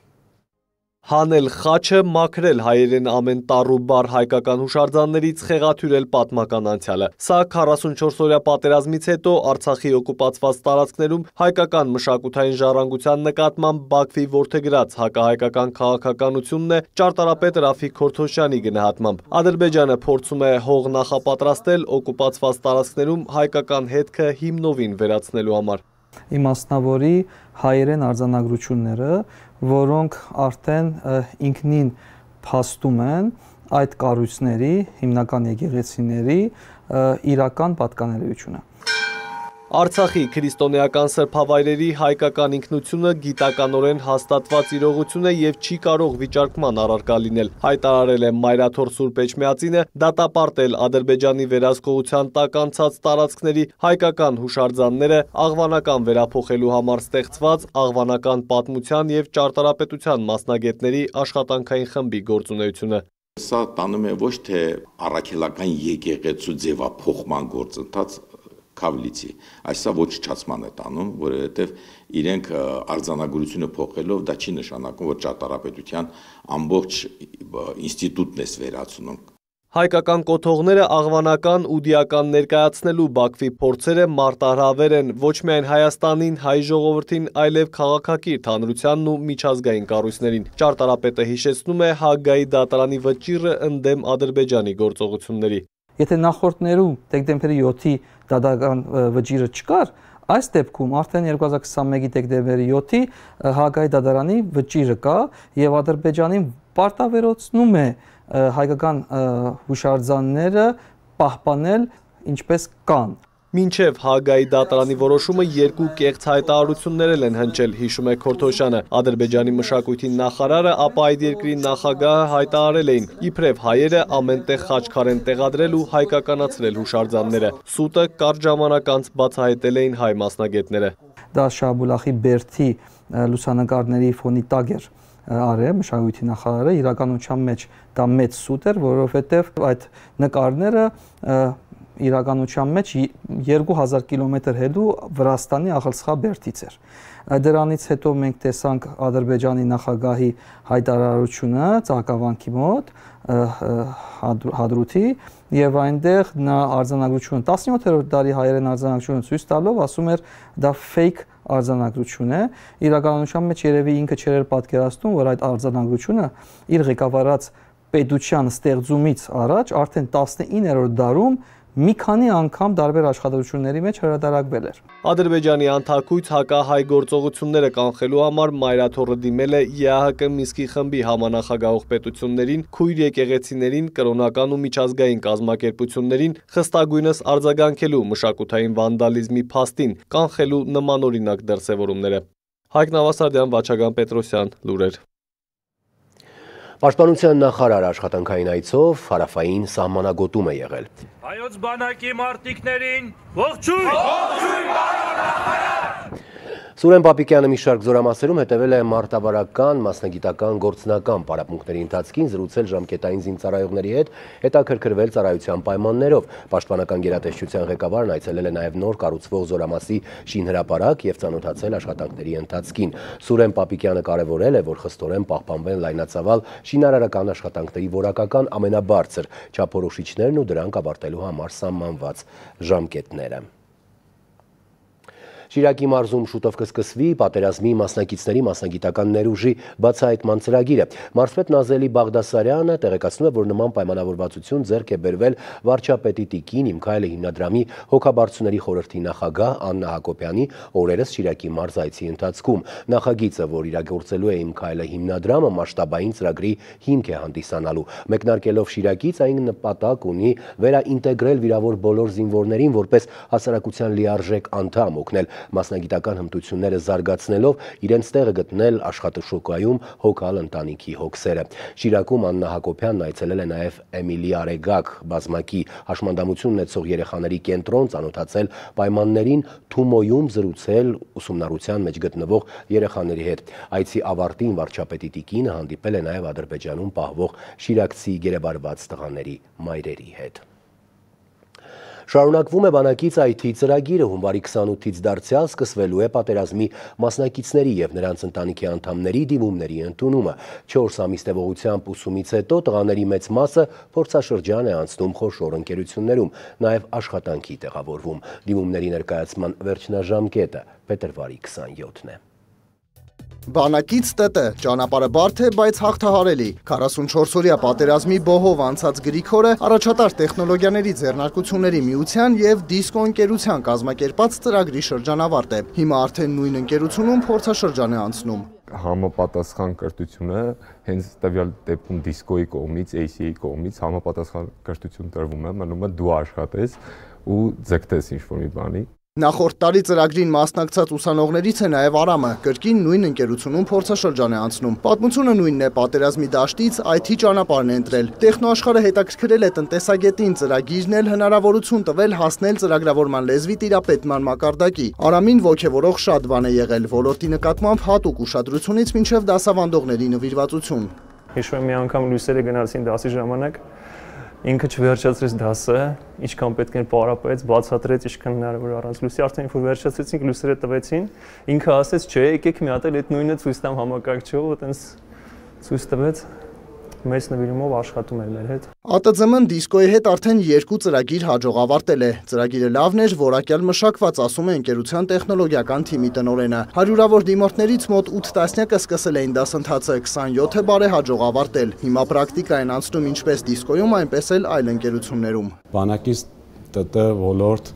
Հանել խաչը, մաքրել հայերեն ամեն տառ ու բառ հայկական հուշարձաններից, խեղաթյուրել պատմական անցյալը։ Սա 44-օրյա պատերազմից հետո Արցախի օկուպացված տարածքներում հայկական մշակութային ժառանգության նկատմամբ Բաքվի որդեգրած հակահայկական քաղաքականությունն է ճարտարապետ Ռաֆիկ Քորթոշյանի գնահատմամբ։ Ադրբեջանը փորձում է հող նախապատրաստել օկուպացված տարածքներում հայկական հետքը հիմնովին վերացնելու համար։ Իմաստնավորի հայերեն արձանագրությունները, որոնք արդեն ինքնին փաստում են այդ կառույցների, հիմնական եկեղեցիների իրական պատկանելիությունը։ Արցախի քրիստոնեական սրբավայրերի հայկական ինքնությունը գիտականորեն հաստատված իրողություն է եւ չի կարող վիճարկման առարկա լինել, հայտարարել է Մայրաթոր Սուրբ Էջմիածինը, դատապարտել Ադրբեջանի վերահսկողության տակ անցած տարածքների հայկական հուշարձանները աղվանական վերափոխելու համար ստեղծված աղվանական պատմության եւ ճարտարապետության մասնագետների աշխատանքային խմբի գործունեությունը։ Սա տանում է ոչ թե առաքելական եկեղեցու ձևափոխման գործընթաց Քավլիցի, այսա ոչնչացման է տանում, որովհետև իրենք արձանագրությունը փոխելով դա չի նշանակում, որ ճարտարապետության ամբողջ ինստիտուտն է վերացնում։ Հայկական կոթողները աղվանական ու դիական ներկայացնելու Բաքվի փորձերը մարտահրավեր են ոչ միայն Հայաստանին, հայ ժողովրդին, այլև քաղաքակիրթ հանրությանն ու միջազգային կառույցներին։ Ճարտարապետը հիշեցնում է Հաագայի դատարանի վճիռը ընդդեմ Ադրբեջանի գործողությունների։ Եթե նախորդներում դեկտեմբերի 7-ի դատական վճիռը չկար, այս դեպքում արդեն 2021-ի դեկտեմբերի 7-ի Հաագայի դատարանի վճիռը կա եւ Ադրբեջանին պարտավորեցնում է հայկական հուշարձանները պահպանել ինչպես կան։ Մինչև Հաագայի դատարանի որոշումը երկու կեղծ հայտարարություններ են հնչել, հիշում է Քորթոշյանը։ Ադրբեջանի մշակույթի նախարարը, ապա այդ երկրի նախագահը հայտարարել էին, իբրև հայերը ամենտեղ խաչքար են տեղադրել ու հայկականացրել հուշարձանները։ Սուտը կարճ ժամանակ անց բացահայտել էին հայ մասնագետները։ Դա Շահաբուլախի Բերդի լուսանկարների ֆոնի տակ էր արել մշակույթի նախարարը, իրականության մեջ դա մեծ սուտ էր, որովհետև այդ նկարները իրականության մեջ 2000 կիլոմետր հեռու Վրաստանի Աղալսխաբերդից էր։ Դրանից հետո մենք տեսանք Ադրբեջանի նախագահի հայտարարությունը Ծաղկավանքի մոտ Հադրութի եւ այնտեղ նա արձանագրությունը 17-րդ դարի հայերեն արձանագրությունը ցույց տալով ասում էր դա fake արձանագրություն է։ Իրականության մեջ երևի ինքը չէր պատկերացնում, որ այդ արձանագրությունը իր ղեկավարած պետության ստեղծումից առաջ արդեն 19-րդ դարում մի քանի անգամ տարբեր աշխատությունների մեջ հրատարակվել էր։ Ադրբեջանի անթակույց հակահայ գործողությունները կանխելու համար Մայրաթորը դիմել է ԵԱՀԿ Մինսկի խմբի համանախագահող պետություններին, քույր եկեղեցիներին, կրոնական ու միջազգային կազմակերպություններին, խստագույնս արձագանքելու մշակութային վանդալիզմի փաստին, կանխելու նմանօրինակ դրսևորումները։ Հայկ Նավասարդյան, Վաչագան Պետրոսյան, լուրեր։ Պաշտպանության նախարար աշխատանքային այցով հարավային սահմանագոտում է եղել։ Հայոց բանակի մարտիկներին ողջույն! Ողջույն, պարոն նախարար! Սուրեն Պապիկյանը մի շարք զորամասերում հետևել է մարտավարական, մասնագիտական, գործնական պարապմունքների ընթացքին, զրուցել ժամկետային զինծառայողների հետ, հետաքրքրվել ծառայության պայմաններով։ Պաշտպանական գերատեսչության ղեկավարն այցելել է նաև նոր կառուցվող զորամասի շինհրապարակ եւ ծանոթացել աշխատանքների ընթացքին։ Սուրեն Պապիկյանը կարևորել է, որ խստորեն պահպանվեն լայնածավալ շինարարական աշխատանքների որակական ամենաբարձր չափորոշիչներն ու դրանք ավարտելու համար սահմանված ժամկետները։ Շիրակի մարզում շուտով կսկսվի պատերազմի մասնակիցների մասնագիտական ներուժի բացահայտման ծրագիրը։ Մարզպետ Նազելի Բաղդասարյանը տեղեկացնում է, որ նման պայմանավորվածություն ձեռք է բերվել վարչապետի տիկին Իմ Քայլը հիմնադրամի հոգաբարձուների խորհրդի նախագահ Աննա Հակոբյանի օրերս Շիրակի մարզ այցի ընթացքում։ Նախագիծը, որ իրագործելու է Իմ Քայլը հիմնադրամը, մասշտաբային ծրագրի հիմք է հանդիսանալու։ Մեկնարկելով Շիրակից, այն նպատակ ունի վերաինտեգրել վիրավոր բոլոր զինվորներին որպես հասարակության լիարժեք անդամ, օգնել մասնագիտական հմտությունները զարգացնելով, իրենց տեղը գտնել աշխատաշուկայում հոգալ ընտանիքի հոգսերը։ Շիրակում Աննա Հակոբյանն այցելել է նաև Էմիլի Արեգակ բազմակի հաշմանդամություն ունեցող երեխաների կենտրոն, ծանոթացել պայմաններին, Թումոյում զրուցել ուսումնառության մեջ գտնվող երեխաների հետ։ Այցի ավարտին վարչապետի տիկինը հանդիպել է նաև Ադրբեջանում պահվող շիրակցի գերեվարված տղաների մայրերի հետ։ Շարունակվում է բանակից IT ծրագիրը, հունվարի 28-ից դարձյալ սկսվելու է պատերազմի մասնակիցների և նրանց ընտանիքի անդամների դիմումների ընդունումը։ 4 ամիս տևողությամբ ուսումից հետո տղաների մեծ մասը փորձաշրջան է անցնում խոշոր ընկերություններում, նաև աշխատանքի տեղավորվում։ Դիմումների ներկայացման վերջնաժամկետը փետրվարի 27-ն է։ Բանակից ՏՏ ճանապարհը բարդ է, բայց հաղթահարելի։ 44-օրյա պատերազմի բոհով անցած Գրիգորը առաջատար տեխնոլոգիաների ձեռնարկությունների միության եւ Դիսկո ընկերության կազմակերպած ծրագրի շրջանավարտ է։ Հիմա արդեն նույն ընկերությունում փորձաշրջան է անցնում։ Համապատասխան կրթությունը հենց տվյալ դեպքում Դիսկոյի կողմից, ACA-ի կողմից համապատասխան կրթություն տրվում է, մնում է դու աշխատես ու ձգտես ինչ-որ մի բանի։ Նախորդ տարի ծրագրին մասնակցած ուսանողներից է նաև Արամը, կրկին նույն ընկերությունում փորձաշրջան է անցնում։ Պատմությունը նույնն է, պատերազմի դաշտից IT ճանապարհն է ընտրել։ Տեխնոաշխարհը հետաքրքրել է տնտեսագետին, ծրագիրն էլ հնարավորություն տվել հասնել ծրագրավորման լեզվի տիրապետման մակարդակի։ Արամին ոգևորող շատ բան է եղել, ոլորտի նկատմամբ հատուկ ուշադրությունից մինչև դասավանդողների նվիրվածություն։ Հիշում եմ մի անգամ լույսերը գնացին դասի ժամանակ, ինքը չվերջացրեց դասը, ինչքան պետք է պարապեց, բացատրեց, ինչքան հնարավոր առանց լույսի, արդեն որ վերջացրեցինք, լույսերը տվեցին, ինքը ասեց, չէ, եկեք մի հատ էլ այդ նույնը ցույց տամ համակարգչով, այտենց ցույց տվեց, մեծ նվիրումով աշխատում էր մեր հետ։ ԱՏԶՄ-ն Դիսկոյի հետ արդեն 2 ծրագիր հաջող ավարտել է։ Ծրագիրը լավն էր, որակյալ մշակված, ասում է ընկերության տեխնոլոգիական թիմի տնօրենը։ Հարյուրավոր դիմորդներից մոտ 8 տասնյակը սկսել էին դասընթացը, 27-ը բարեհաջող ավարտել։ Հիմա պրակտիկա են անցնում ինչպես Դիսկոյում, այնպես էլ այլ ընկերություններում։ Բանակից ՏՏ ոլորտ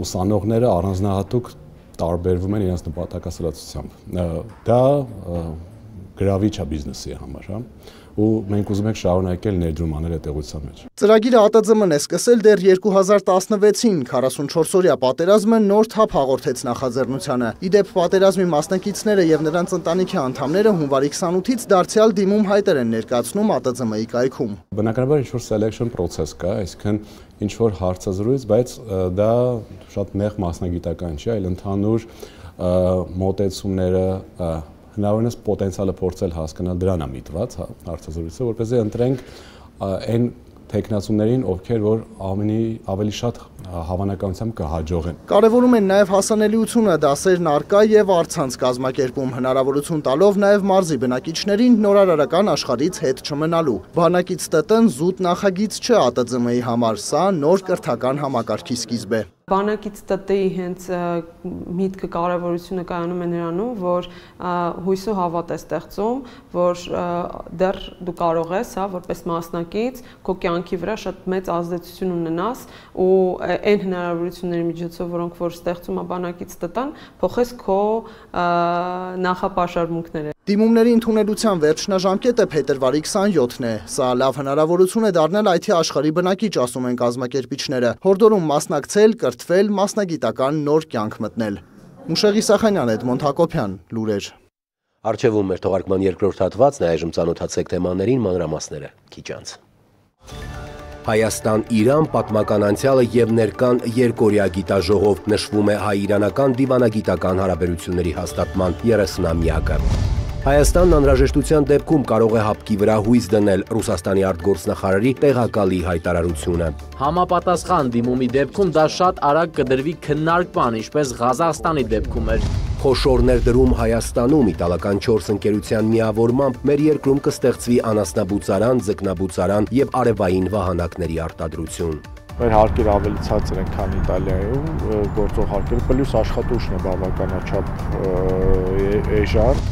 ուսանողները առանձնահատուկ տարբերվում են իրենց նպատակասրացությամբ։ Դա գրավիչ է բիզնեսի համար, հա, ու մենք ուզում ենք շարունակել ներդրում անել այդ տեղության մեջ։ Ծրագիրը ԱՏԶՄ-ն է սկսել դեռ 2016-ին, 44-օրյա պատերազմը նոր թափ հաղորդեց նախաձեռնությանը։ Իդեպ պատերազմի մասնակիցները եւ նրանց ընտանիքի անդամները հունվարի 28-ից դարձյալ դիմում հայտեր են ներկայացնում ԱՏԶՄ-ի կայքում։ Բնականաբար ինչ-որ selection process կա, այսինքն ինչ-որ հարցազրույց, բայց դա շատ նեղ մասնագիտական չի, այլ ընդհանուր մոտեցումները հնարավորինս պոտենցիալը փորձել հասկանալ դրան է միտված հարցազրույցը, որպեսզի ընտրենք այն տեխնացուներին, ովքեր որ ավելի շատ հավանականությամբ կհաջողեն։ Կարևորում են նաև հասանելիությունը, դասերն առկա եւ առցանց կազմակերպում, հնարավորություն տալով նաև մարզի բնակիչներին նորարարական աշխարհից հետ չմնալու։ Բանակից ՏՏ-ն զուտ նախագիծ չէ ԱՏԶՄ-ի համար, սա նոր կրթական համակարգի սկիզբ է։ Բանակից ՏՏ-ի հենց միտքը կարևորությունը կայանում է նրանում, որ հույս ու հավատ է ստեղծում, որ դեռ դու կարող ես, հա, որպես մասնակից, քո կյանքի վրա շատ մեծ ազդեցություն ունենաս ու այն հնարավորությունների միջոցով, որոնք որ ստեղծում է բանակից ՏՏ-ն, փոխես քո նախապաշարմունքները։ Դիմումների ընդունելության վերջնաժամկետը փետրվարի 27-ն է։ Սա լավ հնարավորություն է դառնալ IT աշխարհի բնակիչ, ասում են կազմակերպիչները։ Հորդորում մասնակցել, կրթվել, մասնագիտական նոր կյանք մտնել։ Մուշեղի Սախանյան, Էդմոնդ Հակոբյան, լուրեր։ Արչևում մեր թողարկման երկրորդ հատվածն է, այժմ ծանոթացեք թեմաներին, մանրամասները քիչ անց։ Հայաստան-Իրան պատմական անցյալը եւ ներկան երկօրյա գիտաժողով նշվում է հայ-իրանական դիվանագիտական հարաբերությունների հաստատման 30-ամյակը։ Հայաստանն անհրաժեշտության դեպքում կարող է հապկի վրա հույս դնել Ռուսաստանի արտգործնախարարի տեղակալի հայտարարությունը։ Համապատասխան դիմումի դեպքում դա շատ արագ կդրվի քննարկման, ինչպես Ղազախստանի դեպքում էր։ Խոշոր ներդրում Հայաստանում իտալական 4 ընկերության միավորմամբ մեր երկրում կստեղծվի անասնաբուծարան, ձկնաբուծարան եւ արևային վահանակների արտադրություն։ մեր հարկերը ավելի ցածր են, քան Իտալիայում գործող հարկերը, պլյուս աշխատուժն է բավականաչափ էժան։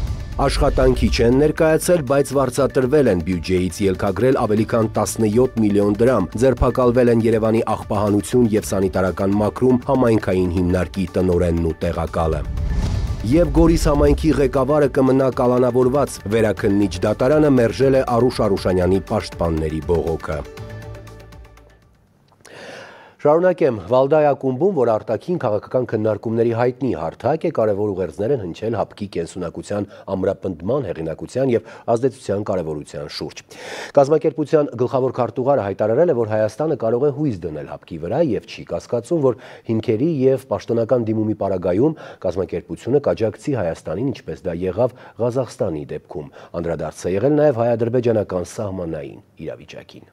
Աշխատանքի չեն ներկայացել, բայց վարձատրվել են բյուջեից ելքագրել ավելի քան 17 միլիոն դրամ, ձերբակալվել են Երևանի աղբահանություն և սանիտարական մաքրում համայնքային հիմնարկի տնօրենն ու տեղակալը։ Եվ Գորիս համայնքի ղեկավարը կմնա կալանավորված, վերաքննիչ դատարանը մերժել է Արուշ Արուշանյանի պաշտպանների բողոքը։ Շարունակեմ, Վալդայ ակումբում, որ արտաքին քաղաքական քննարկումների հայտնի հարթակ է, կարևոր ուղերձներ են հնչել հապկի կենսունակության ամրապնդման հեղինակության և ազդեցության կարևորության շուրջ։ Կազմակերպության գլխավոր քարտուղարը հայտարարել է, որ Հայաստանը կարող է հույս դնել հապկի վրա և չի կասկածում, որ հիմքերի և պաշտոնական դիմումի պարագայում կազմակերպությունը կաջակցի Հայաստանին, ինչպես դա եղավ Ղազախստանի դեպքում։ Անդրադարձ է եղել նաև հայ-ադրբեջանական սահմանային իրավիճակին։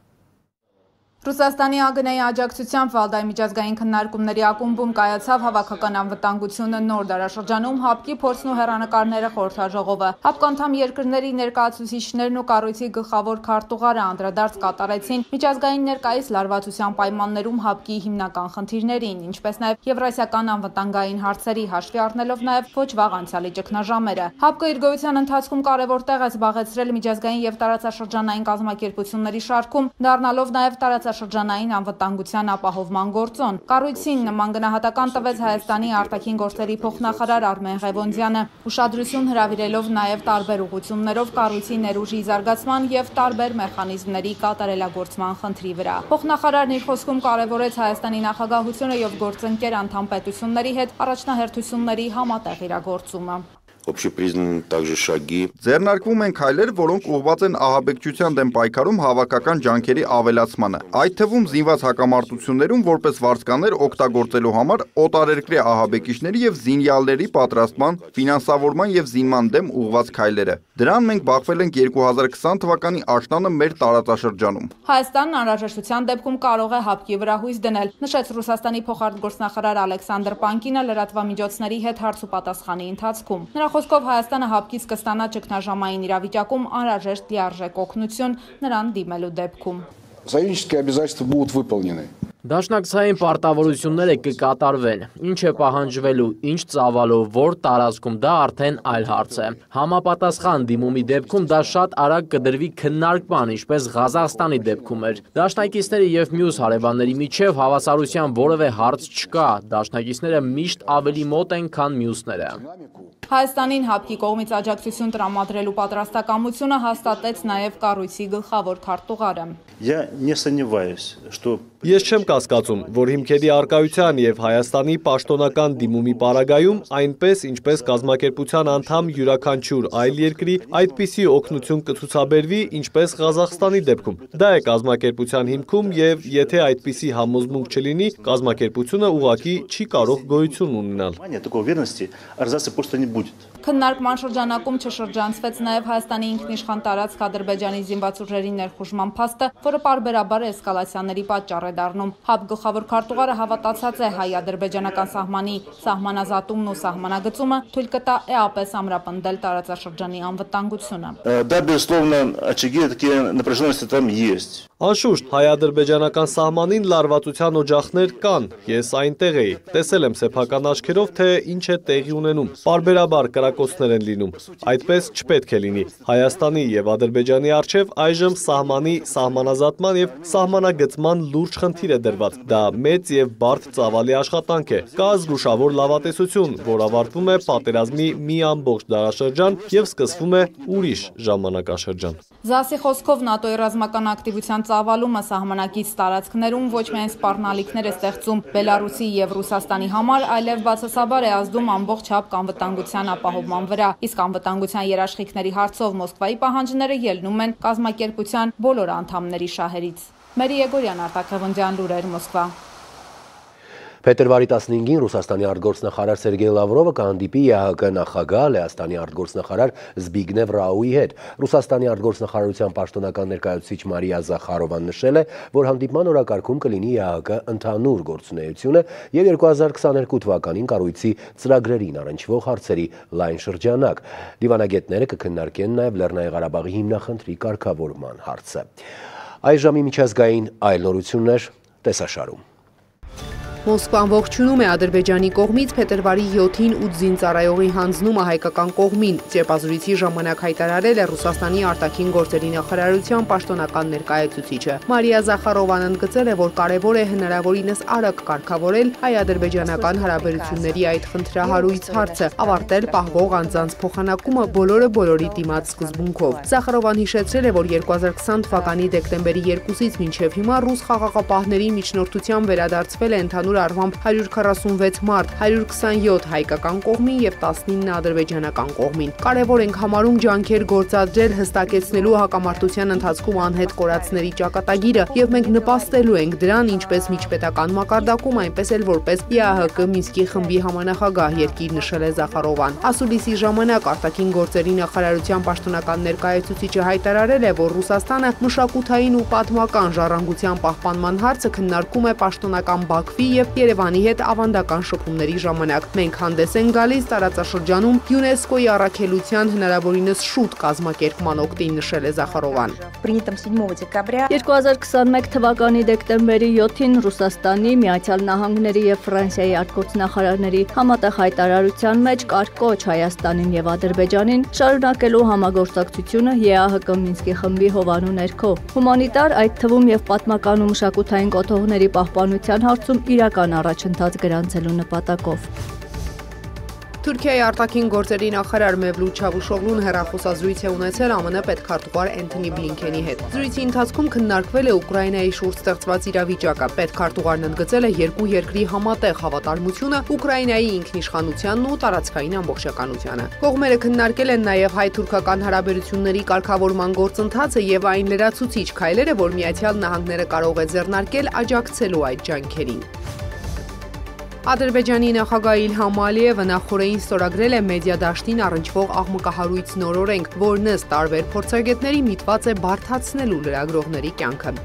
Ռուսաստանի ԱԳՆ-ի աջակցությամբ Վալդայ միջազգային քննարկումների ակումբում կայացավ հավաքական անվտանգությունը նոր դարաշրջանում հապկի փորձն ու հեռանկարները խորհրդաժողովը։ Հապկանդամ երկրների ներկայացուցիչներն ու կառույցի գլխավոր քարտուղարը անդրադարձ կատարեցին միջազգային ներկայիս լարվածության պայմաններում հապկի հիմնական խնդիրներին, ինչպես նաև եվրասիական անվտանգային հարցերի, հաշվի առնելով նաև ոչ վաղ անցյալի ճգնաժամերը։ Հապկը իր գոյության ընթացքում կարևոր տեղ է զբաղեցրել միջազգային և տարածաշրջանային կազմակերպությունների շարքում, դառնալով նաև տարածաշրջանային անվտանգության ապահովման գործոն։ Կառույցին նման գնահատական տվեց Հայաստանի արտաքին գործերի փոխնախարար Արմեն Ղևոնդյանը, ուշադրություն հրավիրելով նաև տարբեր ուղղություններով կառույցի ներուժի զարգացման և տարբեր մեխանիզմների կատարելագործման խնդրի վրա։ Փոխնախարարն իր խոսքում կարևորեց Հայաստանի նախագահությունը և գործընկեր անդամ պետությունների հետ առաջնահերթությունների համատեղ իրագործումը։ Общепризнаны также шаги. Ձեռնարկվում են քայլեր, որոնք ուղղված են ահաբեկչության դեմ պայքարում հավաքական ջանքերի ավելացմանը, այդ թվում զինված հակամարտություններում որպես վարձկաներ օգտագործելու համար օտարերկրյա ահաբեկիչների և զինյալների պատրաստման, ֆինանսավորման և զինման դեմ ուղղված քայլերը։ Դրան մենք բախվել ենք 2020 թվականի աշնանը մեր տարածաշրջանում։ Հայաստանն անհրաժեշտության դեպքում կարող է հապկի վրա հույս դնել, նշեց Ռուսաստանի փոխարտգործնախարար Ալեքսանդր Պանկինը լրատվամիջոցների հետ հարց ու պատասխանի ընթացքում։ Նրա խոսքով Հայաստանը հապկից կստանա ճգնաժամային իրավիճակում անհրաժեշտ լիարժեք օգնություն նրան դիմելու դեպքում։ Союзнические обязательства будут выполнены. Դաշնակցային պարտավորությունները կկատարվեն, ինչ է պահանջվելու, ինչ ծավալով, որ տարածքում դա արդեն այլ հարց է։ Համապատասխան դիմումի դեպքում դա շատ արագ կդրվի քննարկման, ինչպես Ղազախստանի դեպքում էր։ Դաշնակիցների և մյուս հարևանների միջև հավասարության որևէ հարց չկա, դաշնակիցները միշտ ավելի մոտ են, քան մյուսները։ Հայաստանին հապկի կողմից աջակցություն տրամադրելու պատրաստակամությունը հաստատեց նաև կառույցի գլխավոր քարտուղարը։ Ես չեմ կասկածում, որ հիմքերի առկայության և Հայաստանի պաշտոնական դիմումի պարագայում, այնպես ինչպես կազմակերպության անդամ յուրաքանչյուր այլ երկրի, այդպիսի օգնություն կցուցաբերվի, ինչպես Ղազախստանի դեպքում։ Դա է կազմակերպության հիմքում և եթե այդպիսի համոզմունք չլինի, կազմակերպությունը ուղղակի չի կարող գոյություն ունենալ։ Քննարկման շրջանակում չշրջանցվեց նաև Հայաստանի ինքնիշխան տարածք Ադրբեջանի զինված ուժերի ներխուժման փաստը, որը պարբերաբար էսկալացիաների պատճառ է դառնում։ ՀԱՊ գլխավոր քարտուղարը հավատացած է հայ-ադրբեջանական սահմանի սահմանազատումն ու սահմանագծումը թույլ կտա էապես ամրապնդել տարածաշրջանի անվտանգությունը։ Да, безусловно, очаги такие напряженности там есть. Անշուշտ, հայ-ադրբեջանական սահմանին լարվածության օջախներ կան, ես այնտեղ էի, տեսել եմ սեփական աչքերով, թե ինչ է տեղի ունենում, պարբերաբար կրակոցներ են լինում, այդպես չպետք է լինի, Հայաստանի և Ադրբեջանի առջև այժմ սահմանի սահմանազատման և սահմանագծման լուրջ խնդիր է դրված, դա մեծ և բարդ ծավալի աշխատանք է, կա զգուշավոր լավատեսություն, որ ավարտվում է պատերազմի մի ամբողջ դարաշրջան և սկսվում է ուրիշ ժամանակաշրջան։ ԶԱՍ-ի խոսքով ՆԱՏՕ-ի ռազմական ակտիվության ծավալումը սահմանակից տարածքներում ոչ միայն սպառնալիքներ է ստեղծում Բելարուսի և Ռուսաստանի համար, այլև բացասաբար է ազդում ամբողջ հապկ անվտանգության ապահովման վրա, իսկ անվտանգության երաշխիքների հարցով Մոսկվայի պահանջները ելնում են կազմակերպության բոլոր անդամների շահերից։ Մերի Եգորյան, Արտակ Ղևոնդյան, լուրեր, Մոսկվա։ Փետրվարի 15-ին Ռուսաստանի արտգործնախարար Սերգեյ Լավրովը կհանդիպի ԵԱՀԿ նախագահ Լեհաստանի արտգործնախարար Զբիգնև Ռաուի հետ։ Ռուսաստանի արտգործնախարարության պաշտոնական ներկայացուցիչ Մարիա Զախարովան նշել է, որ հանդիպման օրակարգում կլինի ԵԱՀԿ ընդհանուր գործունեությունը և 2022 թվականին կառույցի ծրագրերին առնչվող հարցերի լայն շրջանակ։ Դիվանագետները կքննարկեն նաև Լեռնային Ղարաբաղի հիմնախնդրի կարգավորման հարցը։ Այժմ միջազգային այլ նորություններ տեսաշարում։ Մոսկվան ողջունում է Ադրբեջանի կողմից փետրվարի 7-ին ուձին ծառայողի հանձնումը հայկական կողմին։ Ճեպազրույցի ժամանակ հայտարարել է Ռուսաստանի արտաքին գործերի նախարարության պաշտոնական ներկայացուցիչը։ Մարիա Զախարովան ընդգծել է, որ կարևոր է հնարավորինս արագ կարգավորել հայ-ադրբեջանական հարաբերությունների այդ խնդրահարույց հարցը, ավարտել պահվող անձանց փոխանակումը բոլորի դիմաց սկզբունքով։ Զախարովան հիշեցրել է, որ 2020 թվականի դեկտեմբերի 2-ից մինչև հիմա ռուս խաղաղապահների միջնորդությամբ վերադարձվել է ընդհանուր առմամբ 146 մարդ, 127 հայկական կողմին եւ 19 ադրբեջանական կողմին։ Կարևոր ենք համարում ջանքեր գործադրել հստակեցնելու հակամարտության ընթացքում անհետ կորածների ճակատագիրը եւ մենք նպաստելու ենք դրան ինչպես միջպետական մակարդակում, այնպես էլ որպես ԵԱՀԿ Մինսկի խմբի համանախագահ երկիր, նշել է Զախարովան։ Ասուլիսի ժամանակ արտաքին գործերի նախարարության պաշտոնական ներկայացուցիչը հայտարարել է, որ Ռուսաստանը մշակութային ու պատմական ժառանգության պահպանման հարցը քննարկում է պաշտոնական Բաքվի եւ Երևանի հետ ավանդական շփումների ժամանակ։ Մենք հանդես ենք գալիս տարածաշրջանում ՅՈՒՆԵՍԿՕ-ի առաքելության հնարավորինս շուտ կազմակերպման օգտին, նշել է Զախարովան։ 2021 թվականի դեկտեմբերի 7-ին Ռուսաստանի, Միացյալ Նահանգների եւ Ֆրանսիայի արտգործնախարարների համատեղ հայտարարության մեջ կար կոչ Հայաստանին եւ Ադրբեջանին շարունակելու համագործակցությունը ԵԱՀԿ Մինսկի խմբի հովանու ներքո։ Հումանիտար, այդ թվում եւ պատմական ու մշակութային կոթողների պահպանության հարցում իրական առաջընթաց գրանցելու նպատակով։ Թուրքիայի արտաքին գործերի նախարար Մևլութ Չավուշօղլուն հեռախոսազրույց է ունեցել ԱՄՆ պետքարտուղար Էնթոնի Բլինքենի հետ։ Զրույցի ընթացքում քննարկվել է Ուկրաինայի շուրջ ստեղծված իրավիճակը։ Պետքարտուղարն ընդգծել է երկու երկրի համատեղ հավատարմությունը Ուկրաինայի ինքնիշխանությանն ու տարածքային ամբողջականությանը։ Կողմերը քննարկել են նաև հայ-թուրքական հարաբերությունների կարգավորման գործընթացը եւ այն լրացուցիչ քայլերը, որ Միացյալ Նահանգները կարող է ձեռնարկել աջակցելու այդ ջանքերին։ Ադրբեջանի նախագահ Իլհամ Ալիևը նախորդին ստորագրել է մեդիա դաշտին առնչվող աղմկահարույց նոր օրենք, որն ըստ տարբեր փորձագետների միտված է բարդացնելու լրագրողների կյանքը։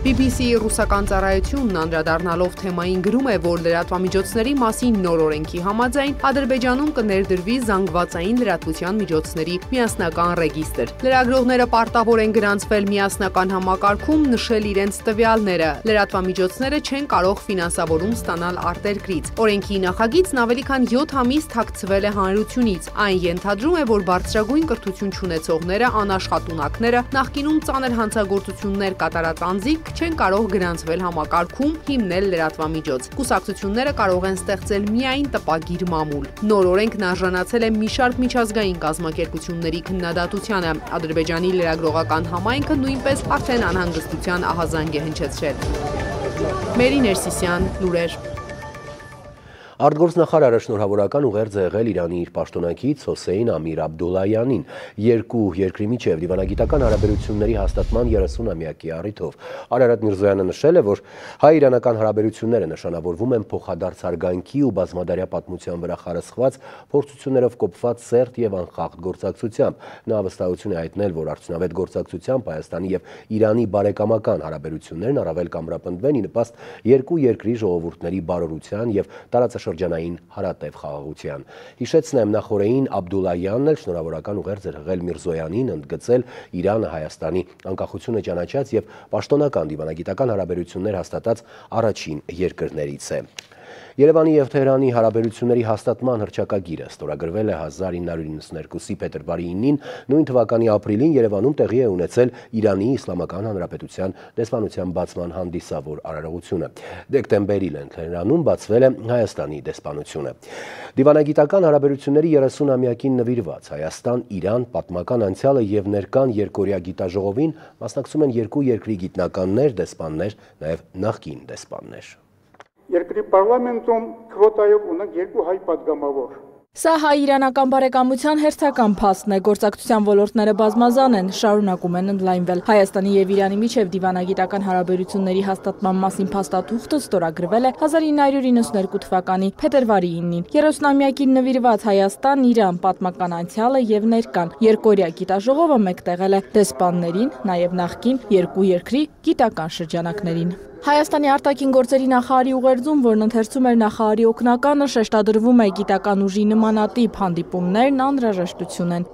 BBC-ի ռուսական ծառայությունն անդրադառնալով թեմային գրում է, որ լրատվամիջոցների մասին նոր օրենքի համաձայն Ադրբեջանում կներդրվի զանգվածային լրատվության միջոցների միասնական ռեգիստր։ Լրագրողները պարտավոր են գրանցվել միասնական համակարգում, նշել իրենց տվյալները։ Լրատվամիջոցները չեն կարող ֆինանսավորում ստանալ արտերկրից։ Օրենքի նախագիծն ավելի քան 7 ամիս թաքցվել է հանրությունից։ Այն ենթադրում է, որ բարձրագույն կրթություն չունեցողները, անաշխատունակները, նախկինում ծանր հանցագործություններ կատարած անձիկ չեն կարող գրանցվել համակարգում, հիմնել լրատվամիջոց։ Կուսակցությունները կարող են ստեղծել միայն տպագիր մամուլ։ Նոր օրենքն արժանացել է մի շարք միջազգային կազմակերպությունների քննադատությանը։ Ադրբեջանի լրագրողական համայնքը նույնպես արդեն անհանգստության ահազանգ է հնչեցրել։ Մերի Ներսիսյան, լուրեր։ Արտգործնախարարը շնորհավորական ուղերձ է եղել Իրանի իր պաշտոնակից Հոսեյն Ամիր Աբդուլլայանին երկու երկրի միջև դիվանագիտական հարաբերությունների հաստատման 30-ամյակի առիթով։ Արարատ Միրզոյանը նշել է, որ հայ-իրանական հարաբերությունները նշանավորվում են փոխադարձ հարգանքի ու բազմադարյա պատմության վրա խարսխված փորձություններով կոփված սերտ եւ անխախտ գործակցությամբ։ Նա վստահություն է հայտնել, որ արդյունավետ գործակցությամբ Հայաստանի եւ Իրանի բարեկամական հարաբերություններն առավել կամրապնդվեն ի նպաստ երկու երկրի ժողովուրդների բարօրության եւ տարածաշրջանային հարատև խաղաղության։ Հիշեցնեմ, նախորդին Աբդուլլայանն էլ շնորհավորական ուղերձ էր եղել Միրզոյանին, ընդգծել Իրանը Հայաստանի անկախությունը ճանաչած եւ պաշտոնական դիվանագիտական հարաբերություններ հաստատած առաջին երկրներից է։ Երևանի եւ Թեհրանի հարաբերությունների հաստատման հռչակագիրը ստորագրվել է 1992-ի փետրվարի 9-ին, նույն թվականի ապրիլին Երևանում տեղի է ունեցել Իրանի Իսլամական Հանրապետության դեսպանության բացման հանդիսավոր արարողությունը։ Դեկտեմբերին Թեհրանում բացվել է Հայաստանի դեսպանությունը։ Դիվանագիտական հարաբերությունների 30-ամյակին նվիրված Հայաստան-Իրան պատմական անցյալը եւ ներկան երկօրյա գիտաժողովին մասնակցում են երկու երկրի գիտնականներ, դեսպաններ, նաեւ նախկին դեսպաններ։ Երկրի պարլամենտում քվոտայով ունենք երկու հայ падգամավոր։ Սա հայ-իրանական բարեկամության հերթական փաստն է, գործակցության ոլորտները բազմազան են, շարունակում են ընդլայնվել։ Հայաստանի եւ Իրանի միջև դիվանագիտական հարաբերությունների հաստատման մասին փաստաթուղթը ստորագրվել է 1992 թվականի փետրվարի 9-ին։ 30-ամյակին նվիրված Հայաստան-Իրան պատմական անցյալը եւ ներկան երկօրյա գիտաժողովը մեկտեղել է դեսպաններին, նաեւ նախկին երկու երկրի գիտական շրջանակներին։ Հայաստանի արտաքին գործերի նախարարի ուղերձում, որն ընթերցում էր նախարարի օգնականը, շեշտադրվում է գիտական ուժի նմանատիպ հանդիպումներն անհրաժեշտություն են։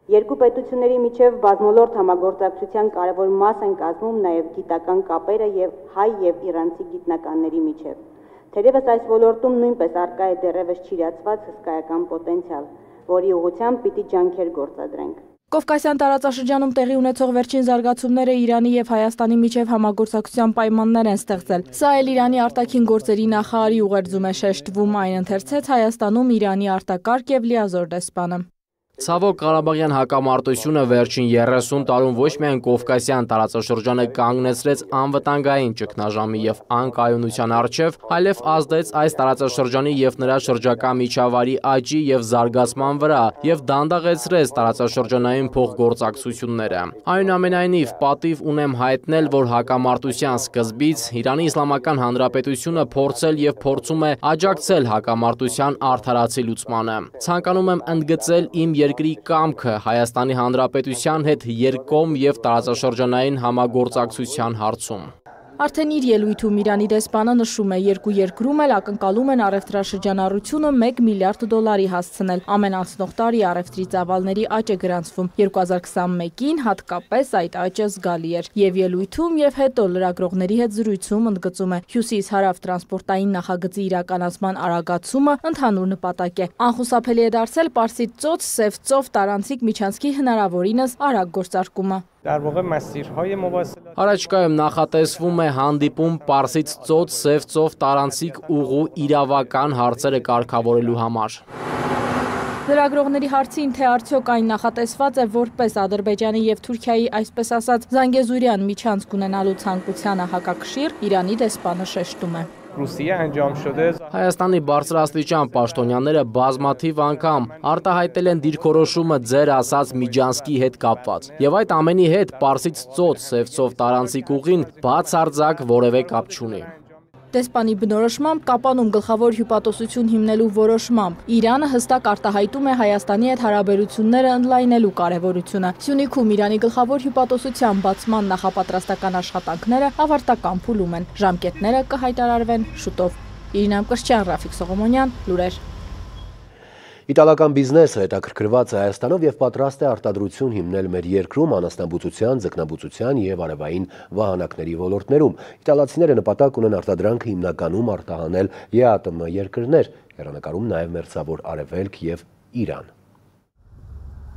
Երկու պետությունների միջև բազմոլորտ համագործակցության կարևոր մաս են կազմում նաև գիտական կապերը եւ հայ եւ իրանցի գիտնականների միջև։ Թերևս այս ոլորտում նույնպես առկա է դեռևս չիրացված հսկայական պոտենցիալ, որի ուղղությամբ պիտի ջանքեր գործադրենք։ Կովկասյան տարածաշրջանում տեղի ունեցող վերջին զարգացումները Իրանի եւ Հայաստանի միջև համագործակցության պայմաններ են ստեղծել։ Սա էլ Իրանի արտաքին գործերի նախարարի ուղերձում է շեշտվում, այն ընթերցեց Հայաստանում Իրանի արտակարգ եւ լիազոր դեսպանը։ Ցավոք Ղարաբաղյան հակամարտությունը վերջին 30 տարում ոչ միայն Կովկասյան տարածաշրջանը կանգնեցրեց անվտանգային ճգնաժամի եւ անկայունության առջև, այլև ազդեց այս տարածաշրջանի եւ նրա շրջակա միջավայրի աճի եւ զարգացման վրա եւ դանդաղեցրեց տարածաշրջանային փոխգործակցությունները։ Այնուամենայնիվ, պատիվ ունեմ հայտնել, որ հակամարտության սկզբից Իրանի Իսլամական Հանրապետությունը փորձել եւ փորձում է աջակցել հակամարտության արդարացի լուծմանը։ Ցանկանում եմ ընդգծել իմ երկրի կամքը Հայաստանի Հանրապետության հետ երկկողմ եւ տարածաշրջանային համագործակցության հարցում։ Արդեն իր ելույթում Իրանի դեսպանը նշում է, երկու երկրում էլ ակնկալում են առևտրաշրջանառությունը $1 միլիարդ հասցնել։ Ամեն անցնող տարի առևտրի ծավալների աճ է գրանցվում։ 2021-ին հատկապես այդ աճը զգալի էր։ Եվ ելույթում եւ հետո լրագրողների հետ զրույցում ընդգծում է, հյուսիս-հարավ տրանսպորտային նախագծի իրականացման արագացումը ընդհանուր նպատակ է։ Անխուսափելի է դարձել Պարսից ծոց, Սև ծով տարանցիկ միջանցքի հնարավորինս արագ գործարկումը։ Առաջկայում նախատեսվում է հանդիպում Պարսից ծոց, Սև ծով տարանցիկ ուղու իրավական հարցերը կարգավորելու համար։ Լրագրողների հարցին, թե արդյոք այն նախատեսված է որպես Ադրբեջանի եւ Թուրքիայի, այսպես ասած, Զանգեզուրյան միջանցք ունենալու ցանկությանը հակակշիռ, Իրանի դեսպանը շեշտում է։ Հայաստանի բարձրաստիճան պաշտոնյաները բազմաթիվ անգամ արտահայտել են դիրքորոշումը ձեր ասած միջանցքի հետ կապված։ Եվ այդ ամենի հետ Պարսից ծոց, Սև ծով տարանցիկ ուղին բացարձակ որևէ կապ չունի։ Դեսպանի բնորոշմամբ կապանում գլխավոր հյուպատոսություն հիմնելու որոշմամբ Իրանը հստակ արտահայտում է Հայաստանի հետ հարաբերությունները ընդլայնելու կարևորությունը։ Սյունիքում Իրանի գլխավոր հյուպատոսության բացման նախապատրաստական աշխատանքները ավարտական փուլում են։ Ժամկետները կհայտարարվեն շուտով։ Իրինա Մկրտչյան, Ռաֆիկ Սողոմոնյան, լուրեր։ Իտալական բիզնեսը հետաքրքրված է Հայաստանով եւ պատրաստ է արտադրություն հիմնել մեր երկրում անասնաբուծության, ձկնաբուծության եւ արևային վահանակների ոլորտներում։ Իտալացիները նպատակ ունեն արտադրանքը հիմնականում արտահանել ԵԱՏՄ երկրներ, հեռանկարում նաեւ Մերձավոր Արևելք եւ Իրան։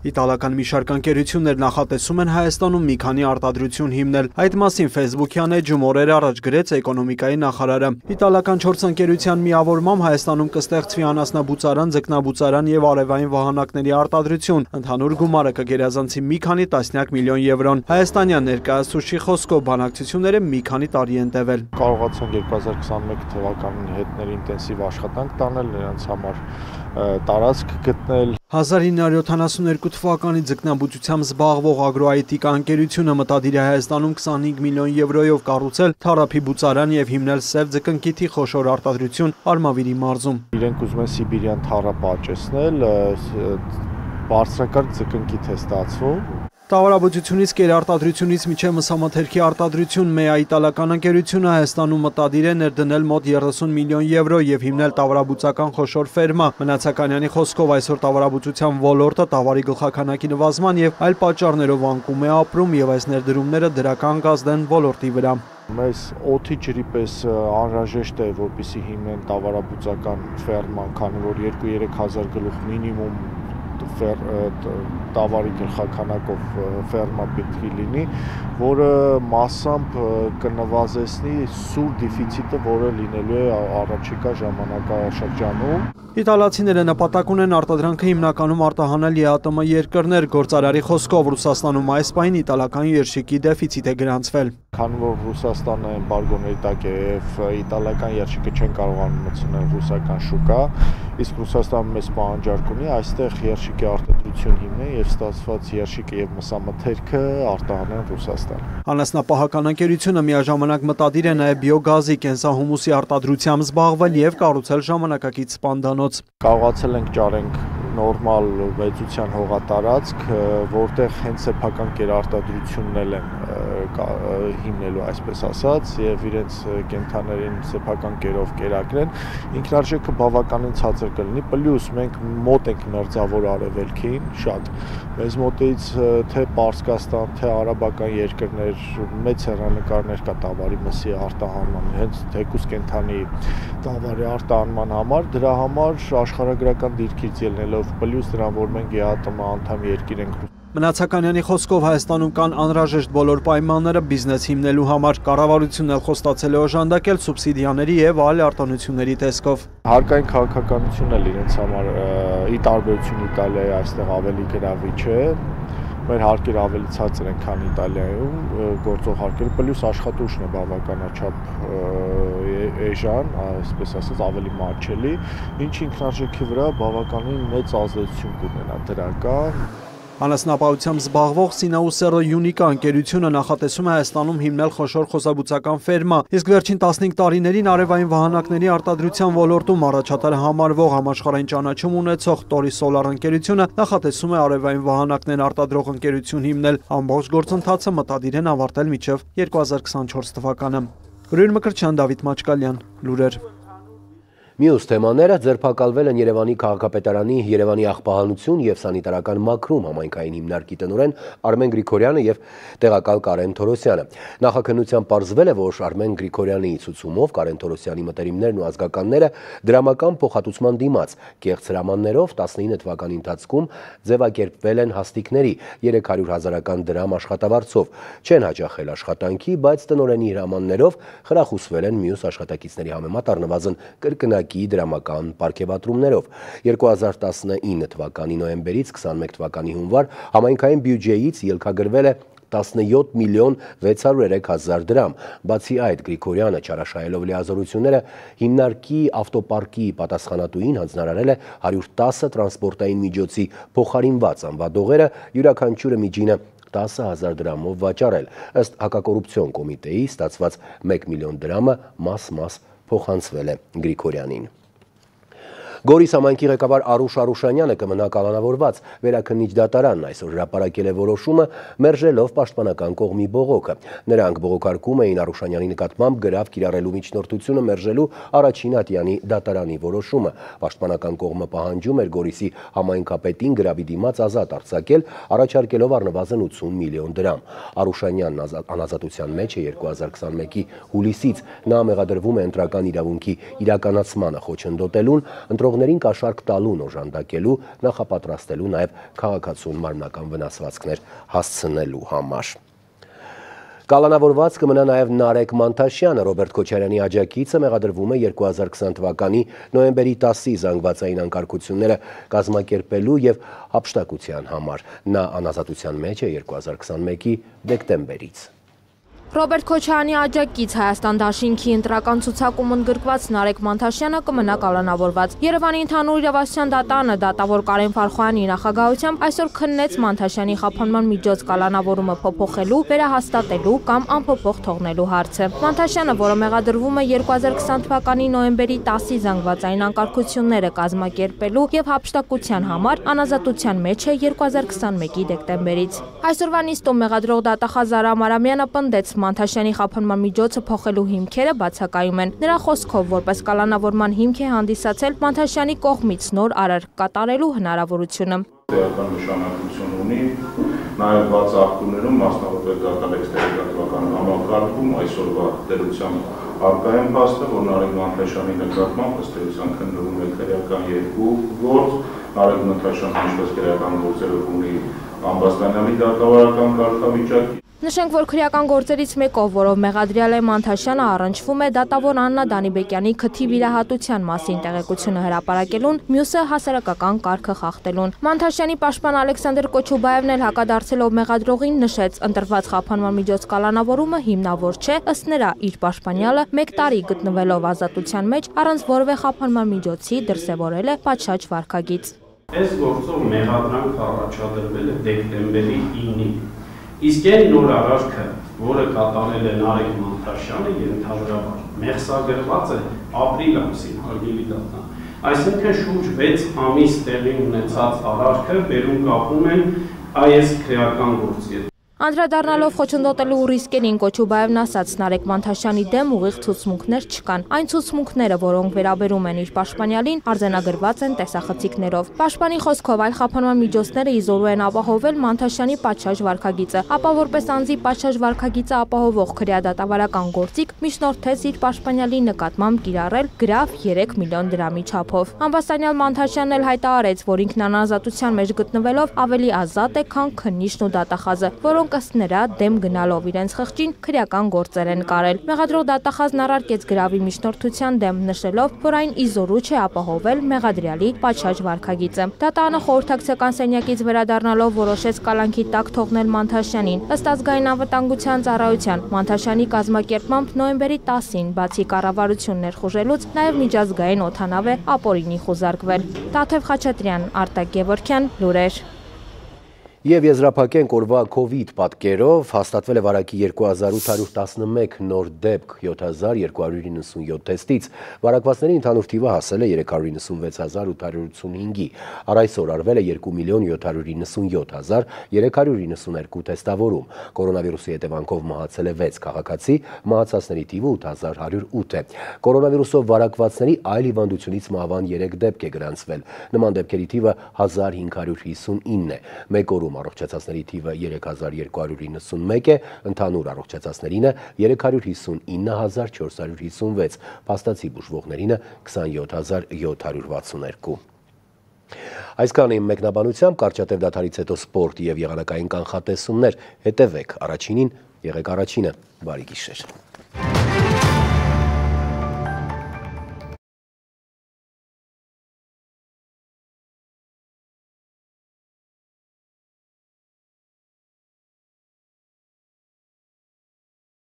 Իտալական մի շարք ընկերություններ նախատեսում են Հայաստանում մի քանի արտադրություն հիմնել։ Այդ մասին Facebook-յան էջում օրեր առաջ գրեց էկոնոմիկայի նախարարը։ Իտալական 4 ընկերության միավորմամբ Հայաստանում կստեղծվի անասնաբուծարան, ձկնաբուծարան եւ արևային վահանակների արտադրություն։ Ընդհանուր գումարը կգերազանցի մի քանի տասնյակ միլիոն եվրոն։ Հայաստանյան ներկայացուցիչի խոսքով բանակցությունները մի քանի տարի են տևել։ Կարողացան 2021 թվականին հետներ ինտենսիվ աշխատանք տանել, նրանց համար տարածք գտնել։ 1972 թվականի ձկնաբուծությամբ զբաղվող ագրոայտիկա ընկերությունը մտադիր է Հայաստանում 25 միլիոն եվրոյով կառուցել թարափի բուծարան եւ հիմնել սև ձկնկիթի խոշոր արտադրություն Արմավիրի մարզում։ Իրենք ուզում են սիբիրյան թարապ աճեցնել, բարձրակարգ ձկնկիթ է ստացվում։ Տավարաբուծությունից կերարտադրությունից մինչև մսամթերքի արտադրություն ՄԵԱ իտալական ընկերությունը Հայաստանում մտադիր է ներդնել մոտ 30 միլիոն եվրո եւ հիմնել տավարաբուծական խոշոր ֆերմա։ Մնացականյանի խոսքով այսօր տավարաբուծության ոլորտը տավարի գլխաքանակի նվազման եւ այլ պատճառներով անկում է ապրում եւ այս ներդրումները դրական կազդ են ոլորտի վրա։ Մեզ օդի ջրի պես անհրաժեշտ է, որպեսզի հիմնեն տավարաբուծական ֆերմա, քանի որ 2-3 հազար գլուխ մինիմում տավարի գլխաքանակով ֆերմա պետք է լինի, որը մասամբ կնվազեցնի սուր դեֆիցիտը, որը լինելու է առաջիկա ժամանակաշրջանում։ Իտալացիները նպատակ ունեն արտադրանքը հիմնականում արտահանել ԵԱՏՄ երկրներ, գործարարի խոսքով Ռուսաստանում այս պահին իտալական երշիկի դեֆիցիտ է գրանցվել։ Քանի որ Ռուսաստանը էմբարգոների տակ է եւ իտալական երշիկը չեն կարողանում մտցնել ռուսական շուկա, իսկ Ռուսաստանը մեծ պահանջարկ ունի այստեղ երշիկի արտադրություն հիմնել եւ ստացված երշիկը եւ մսամթերքը արտահանեն Ռուսաստան։ Անասնապահական ընկերությունը միաժամանակ մտադիր է նաեւ բիոգազի կենսահումուսի արտադրությամբ զբաղվել եւ կառուցել ժամանակակից սպանդանոց։ Կարողացել ենք ճարենք նորմալ վեծության հողատարածք, որտեղ հենց սեփական կերարտադրությունն են հիմնելու, այսպես ասած, եւ իրենց կենթաներին սեփական կերով կերակրեն, ինքնարժեքը բավականին ցածր կլինի, պլյուս մենք մոտ ենք մերձավոր արևելքին, շատ մեզ մոտից թե Պարսկաստան, թե արաբական երկրներ մեծ հեռանկարներ կա Տավարի մսի արտահանման, հենց թեկուզ կենթանի Տավարի արտահանման համար, դրա համար աշխարհագրական դիրքից ելնելով պլյուս դրան, որ մենք ԵԱՏՄ անդամ երկիր ենք։ Մնացականյանի խոսքով Հայաստանում կան անհրաժեշտ բոլոր պայմանները բիզնես հիմնելու համար, կառավարությունն էլ խոստացել է օժանդակել սուբսիդիաների եւ այլ արտոնությունների տեսքով։ Հարկային քաղաքականությունն էլ իրենց համար ի տարբերություն Իտալիայի այստեղ ավելի գրավիչ է։ Մեր հարկերը ավելի ցածր են, քան Իտալիայում գործող հարկերը, պլյուս աշխատուժն է բավականաչափ էժան, այսպես ասած, ավելի մատչելի, ինչը ինքնարժեքի վրա բավականին մեծ ազդեցություն կունենա դրական։ Անասնապահությամբ զբաղվող Սինաուսերը Յունիկա ընկերությունը նախատեսում է Հայաստանում հիմնել խոշոր խոսաբուծական ֆերմա, իսկ վերջին 15 տարիներին արևային վահանակների արտադրության ոլորտում առաջատար համարվող համաշխարհային ճանաչում ունեցող Տորի Սոլար ընկերությունը նախատեսում է արևային վահանակներ արտադրող ընկերություն հիմնել, ամբողջ գործընթացը մտադիր են ավարտել մինչև 2024 թվականը։ Ուրույն Մկրտչյան, Դավիթ Մաչկալյան, լուրեր։ Մյուս թեմաները ձերբակալվել են Երևանի քաղաքապետարանի Երևանի աղբահանություն և սանիտարական մաքրում համայնքային հիմնարկի տնօրեն Արմեն Գրիգորյանը և տեղակալ Կարեն Թորոսյանը։ Նախաքննությամբ պարզվել է, որ Արմեն Գրիգորյանի ցուցումով Կարեն Թորոսյանի մտերիմներն ու ազգականները դրամական փոխհատուցման դիմաց կեղծ հրամաններով 19 թվականի ընթացքում ձևակերպվել են հաստիկների 300,000 դրամ աշխատավարձով, չեն հաճախել աշխատանքի, բայց տնօրենի հրամաններով խրախուսվել են մյուս աշխատակիցների համեմատ առնվազն կրկնակի դրամական պարգևատրումներով։ 2019 թվականի նոյեմբերից 21 թվականի հունվար համայնքային բյուջեից ելքագրվել է 17 միլիոն 603 հազար դրամ։ Բացի այդ, Գրիգորյանը չարաշահելով լիազորությունները հիմնարկի ավտոպարկի պատասխանատուին հանձնարարել է 110 տրանսպորտային միջոցի փոխարինված անվադողերը յուրաքանչյուրը միջինը 10,000 դրամով վաճառել։ Ըստ հակակոռուպցիոն կոմիտեի ստացված 1 միլիոն դրամը մաս-մաս փոխանցվել է Գրիգորյանին։ Գորիս համայնքի ղեկավար Արուշ Արուշանյանը կմնա կալանավորված, վերաքննիչ դատարանն այսօր հրապարակել է որոշումը, մերժելով պաշտպանական կողմի բողոքը։ Նրանք բողոքարկում էին Արուշանյանի նկատմամբ գրավ կիրառելու միջնորդությունը մերժելու առաջին ատյանի դատարանի որոշումը։ Պաշտպանական կողմը պահանջում էր Գորիսի համայնքապետին գրավի դիմաց ազատ արձակել, առաջարկելով առնվազն 80 միլիոն դրամ։ Արուշանյանն անազատության մեջ է 2021-ի հուլիսից։ Նա մեղադրվում է ընտրական իրավունքի իրականացմանը խոչընդոտելուն, ընտրողներին կաշառք տալուն օժանդակելու, նախապատրաստելու, նաև քաղաքացուն մարմնական վնասվածքներ հասցնելու համար։ Կալանավորված կմնա նաև Նարեկ Մանթաշյանը, Ռոբերտ Քոչարյանի աջակիցը մեղադրվում է 2020 թվականի նոյեմբերի 10-ի զանգվածային անկարգությունները կազմակերպելու և հափշտակության համար։ Նա անազատության մեջ է 2021-ի դեկտեմբերից։ Ռոբերտ Քոչարյանի աջակից Հայաստան դաշինքի ընտրական ցուցակում ընդգրկված Նարեկ Մանթաշյանը կմնա կալանավորված։ Երևանի ընդհանուր իրավասության դատարանը դատավոր Կարեն Ֆարխոյանի նախագահությամբ այսօր քննեց Մանթաշյանի խափանման միջոց կալանավորումը փոփոխելու, վերահաստատելու կամ անփոփոխ թողնելու հարցը։ Մանթաշյանը, որը մեղադրվում է 2020 թվականի նոյեմբերի 10-ի զանգվածային անկարգությունները կազմակերպելու և հափշտակության համար, անազատության մեջ է 2021-ի դեկտեմբերից։ Այսօրվա նիստում մեղադրող դատախազ Արամ Արամյանը պնդեց Մանթաշյանի խափանման միջոցը փոխելու հիմքերը բացակայում են։ Նրա խոսքով, որպես կալանավորման հիմք է հանդիսացել Մանթաշյանի կողմից նոր արարք կատարելու հնարավորությունը։ Տեղական նշանակություն ունի նաև բաց ակտումներում, մասնավորապես դատալեքսների թվական համակարգում այսօրվա դերությամբ առկա են փաստը, որ Նարեկ Մանթաշյանի նկատմամբ ըստ էության քննվում է քրեական երկու գործ, Նարեկ Մանթաշյանը ինչպես քրեական գործերով ունի ամբաստանյալի դատավարական կարգավիճակ։ Նշենք, որ քրեական գործերից մեկով, որով մեղադրյալ է Մանթաշյանը, առնչվում է դատավոր Աննա Դանիբեկյանի քթի վիրահատության մասին տեղեկությունը հրապարակելուն, մյուսը հասարակական կարգը խախտելուն։ Մանթաշյանի պաշտպան Ալեքսանդր Կոչուբաևն էլ հակադարձելով մեղադրողին նշեց, ընտրված խափանման միջոց կալանավորումը հիմնավոր չէ, ըստ նրա իր պաշտպանյալը 1 տարի գտնվելով ազատության մեջ առանց որևէ խափանման միջոցի դրսևորել է պատշաճ վարքագիծ։ Այս գործով մեղադրանք առաջադրվել է դեկտեմբերի 9-ին։ Իսկ այն նոր արարքը, որը կատարել է Նարեկ Մանթաշյանը, ենթադրաբար մեղսագրված է ապրիլ ամսին, հարգելի դատան։ Այսինքն շուրջ 6 ամիս տեղի ունեցած արարքը բերում կապում են այս քրեական գործի հետ։ Անդրադառնալով խոչընդոտելու ռիսկերին Կոչուբաևն ասաց, Նարեկ Մանթաշյանի դեմ ուղիղ ցուցմունքներ չկան։ Այն ցուցմունքները, որոնք վերաբերում են իր պաշտպանյալին, արձանագրված են տեսախցիկներով։ Պաշտպանի խոսքով այլ խափանման միջոցները իզորու են ապահովել Մանթաշյանի պատշաճ վարքագիծը, ապա որպես անձի պատշաճ վարքագիծը ապահովող քրեադատավարական գործիք միջնորդեց իր պաշտպանյալի նկատմամբ կիրառել գրավ 3 միլիոն դրամի չափով։ Ամբաստանյալ Մանթաշյանն էլ հայտարարեց, որ ինքն անազատության մեջ գտնվելով ավելի ազատ է, քան քննիչն ու դատախազը, որոնք ըստ նրա դեմ գնալով իրենց խղճին քրեական գործեր են կարել։ Մեղադրող դատախազն առարկեց գրավի միջնորդության դեմ, նշելով, որ այն իզորու չէ ապահովել մեղադրյալի պատշաճ վարքագիծը։ Դատարանը խորհրդակցական սենյակից վերադառնալով որոշեց կալանքի տակ թողնել Մանթաշյանին։ Ըստ ազգային անվտանգության ծառայության, Մանթաշյանի կազմակերպմամբ նոյեմբերի 10-ին, բացի կառավարություն ներխուժելուց, նաև միջազգային օդանավ է ապօրինի խուզարկվել։ Տաթև Խաչատրյան, Արտակ Գևորգյան, լուրեր։ Եվ եզրափակենք օրվա COVID պատկերով հաստատվել է վարակի 2811 նոր դեպք 7297 թեստից, վարակվածների ընդհանուր թիվը հասել է 396885-ի, առ այսօր արվել է 2,797,392 թեստավորում, կորոնավիրուսի հետևանքով մահացել է 6 քաղաքացի, մահացածների թիվը 8108 է, կորոնավիրուսով վարակվածների այլ հիվանդությունից մահվան 3 դեպք է գրանցվել, նման դեպքերի թիվը 1559 է, մեկ օրում առողջացածների թիվը 3291 է, ընդհանուր առողջացածներինը 359456, փաստացի բուժվողներինը 27762։ Այսքանը իմ մեկնաբանությամբ, կարճատև դադարից հետո սպորտ և եղանակային կանխատեսումներ, հետևեք առաջինին, եղեք առաջինը, բարի գիշեր։